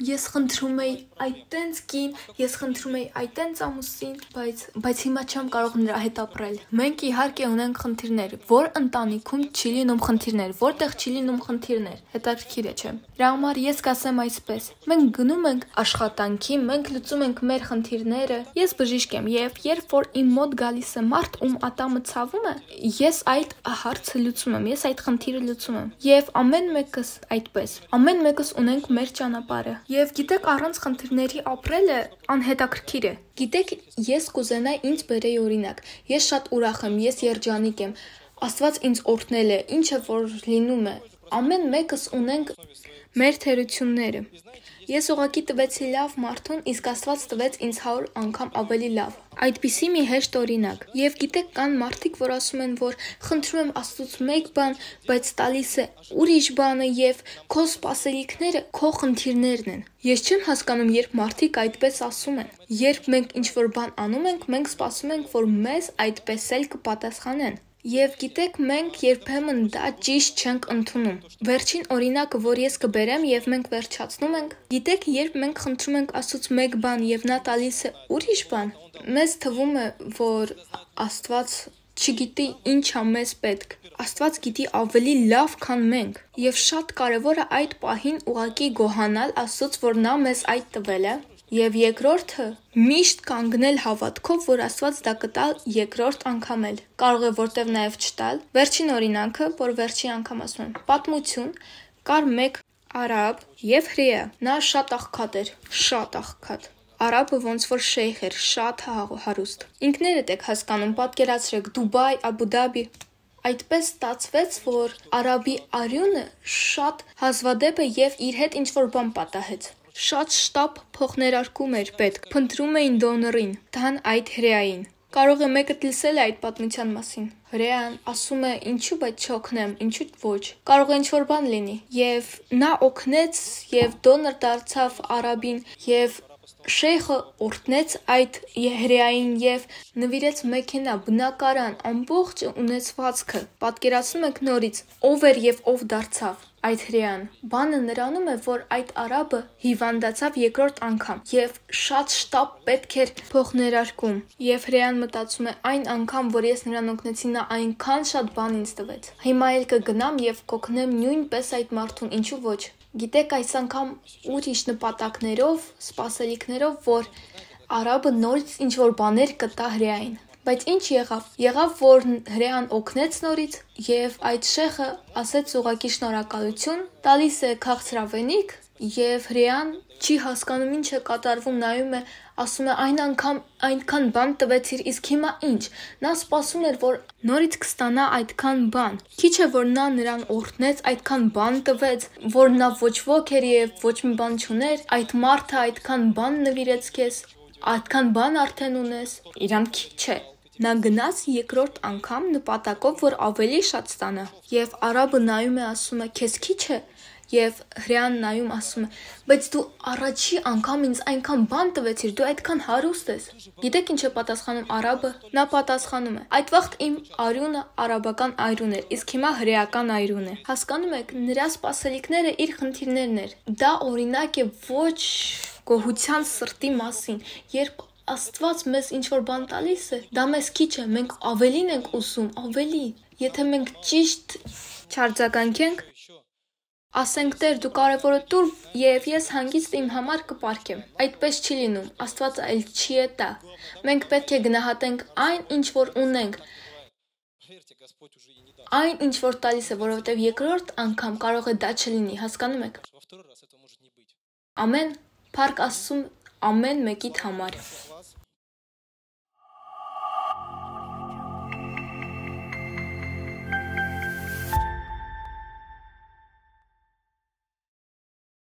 Speaker 3: ես խնդրում էի այտենց կին, ես խնդրում էի այտենց ամուսին, բայց բայց հիմա չեմ կարող նրա հետ ապրել։ Մենք իհարկե ունենք խնդիրներ, որ ընտանիքում չի լինում խնդիրներ, որտեղ չի լինում խնդիրներ։ Հետաքրքիր է, չէ՞։ Դրա համար ես կասեմ այսպես. մենք գնում ենք աշխատանքի, մենք լուծում ենք մեր խնդիրները։ Ես բժիշկ եմ եւ երբ որ իմ մոտ գալիս է մարդ, ում ատամը ցավում է, ես այդ հարցը լուծում եմ, ես այդ խնդիրը լուծում եմ։ Եվ ամեն մեկս այդպես։ Ամեն մեկս ունենք մեր ճանապարհը։ Եվ գիտեք, առանց խնդիրների ապրելը անհետաքրքիր է։ Գիտեք, ես կուզենայի ինձ բերեի օրինակ։ Ես շատ ուրախ եմ, ես երջանիկ եմ։ Աստված ինձ օրհնել է, ինչը որ լինում է։ Ամեն մեկս ունենք մեր թերությունները։ Ես ուղղակի տվեցի լավ մարդուն, իսկ Աստված տվեց ինձ հարյուր անգամ ավելի լավ։ Այդպիսի մի հեշտ օրինակ։ Եվ գիտեք, կան մարդիկ, որ ասում են, որ խնդրում եմ Աստծուց մեկ բան, բայց տալիս է ուրիշ բանը եւ քո սպասելիքները քո խնդիրներն են։ Ես չեմ հասկանում, երբ մարդիկ այդպես ասում են։ Երբ մենք ինչ-որ բան անում ենք, մենք սպասում ենք, որ մեզ այդպես էլ կպատասխանեն։ Եվ գիտեք, մենք երբեմն դա ճիշտ չենք ընդունում։ Վերջին օրինակը, որ ես կբերեմ եւ մենք վերջացնում ենք, գիտեք, երբ մենք խնդրում ենք Աստծուց մեկ բան եւ նա տալիս է ուրիշ բան, մեզ թվում է, որ Աստված չգիտի ինչ է մեզ պետք։ Աստված գիտի ավելի լավ, քան մենք։ Եվ շատ կարևոր է այդ պահին ուղղակի գոհանալ Աստծուց, որ նա մեզ այդ տվել է։ Եվ երկրորդը միշտ կանգնել հավատքով, որ Աստված դա կտա երկրորդ անգամ էլ։ Կարող է որտեվ նաև չտալ։ Վերջին օրինակը, որ վերջի անգամ ասում եմ, պատմություն, կար մեկ արաբ եւ հրեա։ Նա շատ աղքատ էր, շատ աղքատ։ Արաբը ոնց որ շեյխ էր, շատ հարուստ։ Ինքներդ եք հասկանում, պատկերացրեք Դուբայ, Աբու Դաբի։ Այդպես ստացվեց, որ արաբի արյունը շատ հազվադեպ է եւ իր հետ ինչ-որ բան պատահեց։ Շատ շտապ փոխներարկում էր պետք, փնտրում էին դոնորին, դան այդ հրեային։ Կարող է մեկը լսել է այդ պատմության մասին։ Հրեան ասում է, ինչու բայց չօգնեմ, ինչու ոչ։ Կարող է ինչ-որ բան լինի։ Եվ նա օգնեց եւ դոնոր դարձավ արաբին եւ շեյխը օրհնեց այդ հրեային եւ նվիրեց մեքենա, բնակարան, ամբողջ ունեցվածքը։ Պատկերացնում եք նորից ով էր եւ ով դարձավ այդ հրեան։ Բանը նրանում է, որ այդ արաբը հիվանդացավ երկրորդ անգամ եւ շատ շտապ պետք էր փոխներարկում։ Եվ հրեան մտածում է, այն անգամ, որ ես նրան օգնեցի, նա այնքան շատ բան ինձ տվեց։ Հիմա էլ կգնամ եւ կօգնեմ նույնպես այդ մարդուն, ինչու ոչ։ Գիտեք, այս անգամ ուրիշ նպատակներով, սպասելիքներով, որ արաբը նորից ինչ-որ բաներ կտա հրեային։ Բայց ինչ եղավ։ Եղավ, որ հրեան օգնեց նորից եւ այդ շեխը ասեց ուղակի շնորհակալություն, տալիս է քաղցրավենիք եւ հրեան չի հասկանում ինչ է կատարվում, նայում է, ասում է այն անգամ այնքան բան տվեցիր, իսկ հիմա ինչ։ Նա սպասում էր, որ նորից կստանա այդքան բան։ Քիչ է, որ նա նրան օրհնեց, այդքան բան տվեց, որ նա ոչ ոք էր եւ ոչ մի բան չուներ, այդ մարդը այդքան բան նվիրեց քեզ, այդքան բան արդեն ունես, իրան քիչ է։ Նա գնաց երկրորդ անգամ նպատակով, որ ավելի շատ ստանա։ Եվ արաբը նայում է, ասում է, քեզ քիչ է։ Եվ հրեան նայում ասում է, բայց դու առաջի անգամ ինձ այնքան բան տվեցիր, դու այդքան հարուստ ես։ Գիտեք ինչ է պատասխանում արաբը։ Նա պատասխանում է, այդ վաղտ իմ արյունը արաբական այրուն էր, իսկ հիմա հրեական այրուն է։ Հասկանում եք, նրա սպասելիքները իր խնդիրներն էր։ Դա օրինակ է ոչ գոհության սրտի մասին, երբ Աստված մեզ ինչ-որ բան տալիս է, դա մեզ քիչ է, մենք ավելին ենք ուզում, ավելի։ Եթե մենք ճիշտ չարձագանքենք, ասենք Տեր, դու կարևորը տուր եւ ես հանգիստ իմ համար կպարգեմ։ Այդպես չի լինում, Աստված այլ չի է տա։ Մենք պետք է գնահատենք այն, ինչ որ ունենք, այն, ինչ որ տալիս է, որովհետեւ երկրորդ անգամ կարող է դա չլինի, հասկանում եք։ Ամեն, փառք Աստծուն ամեն մեկիդ համար։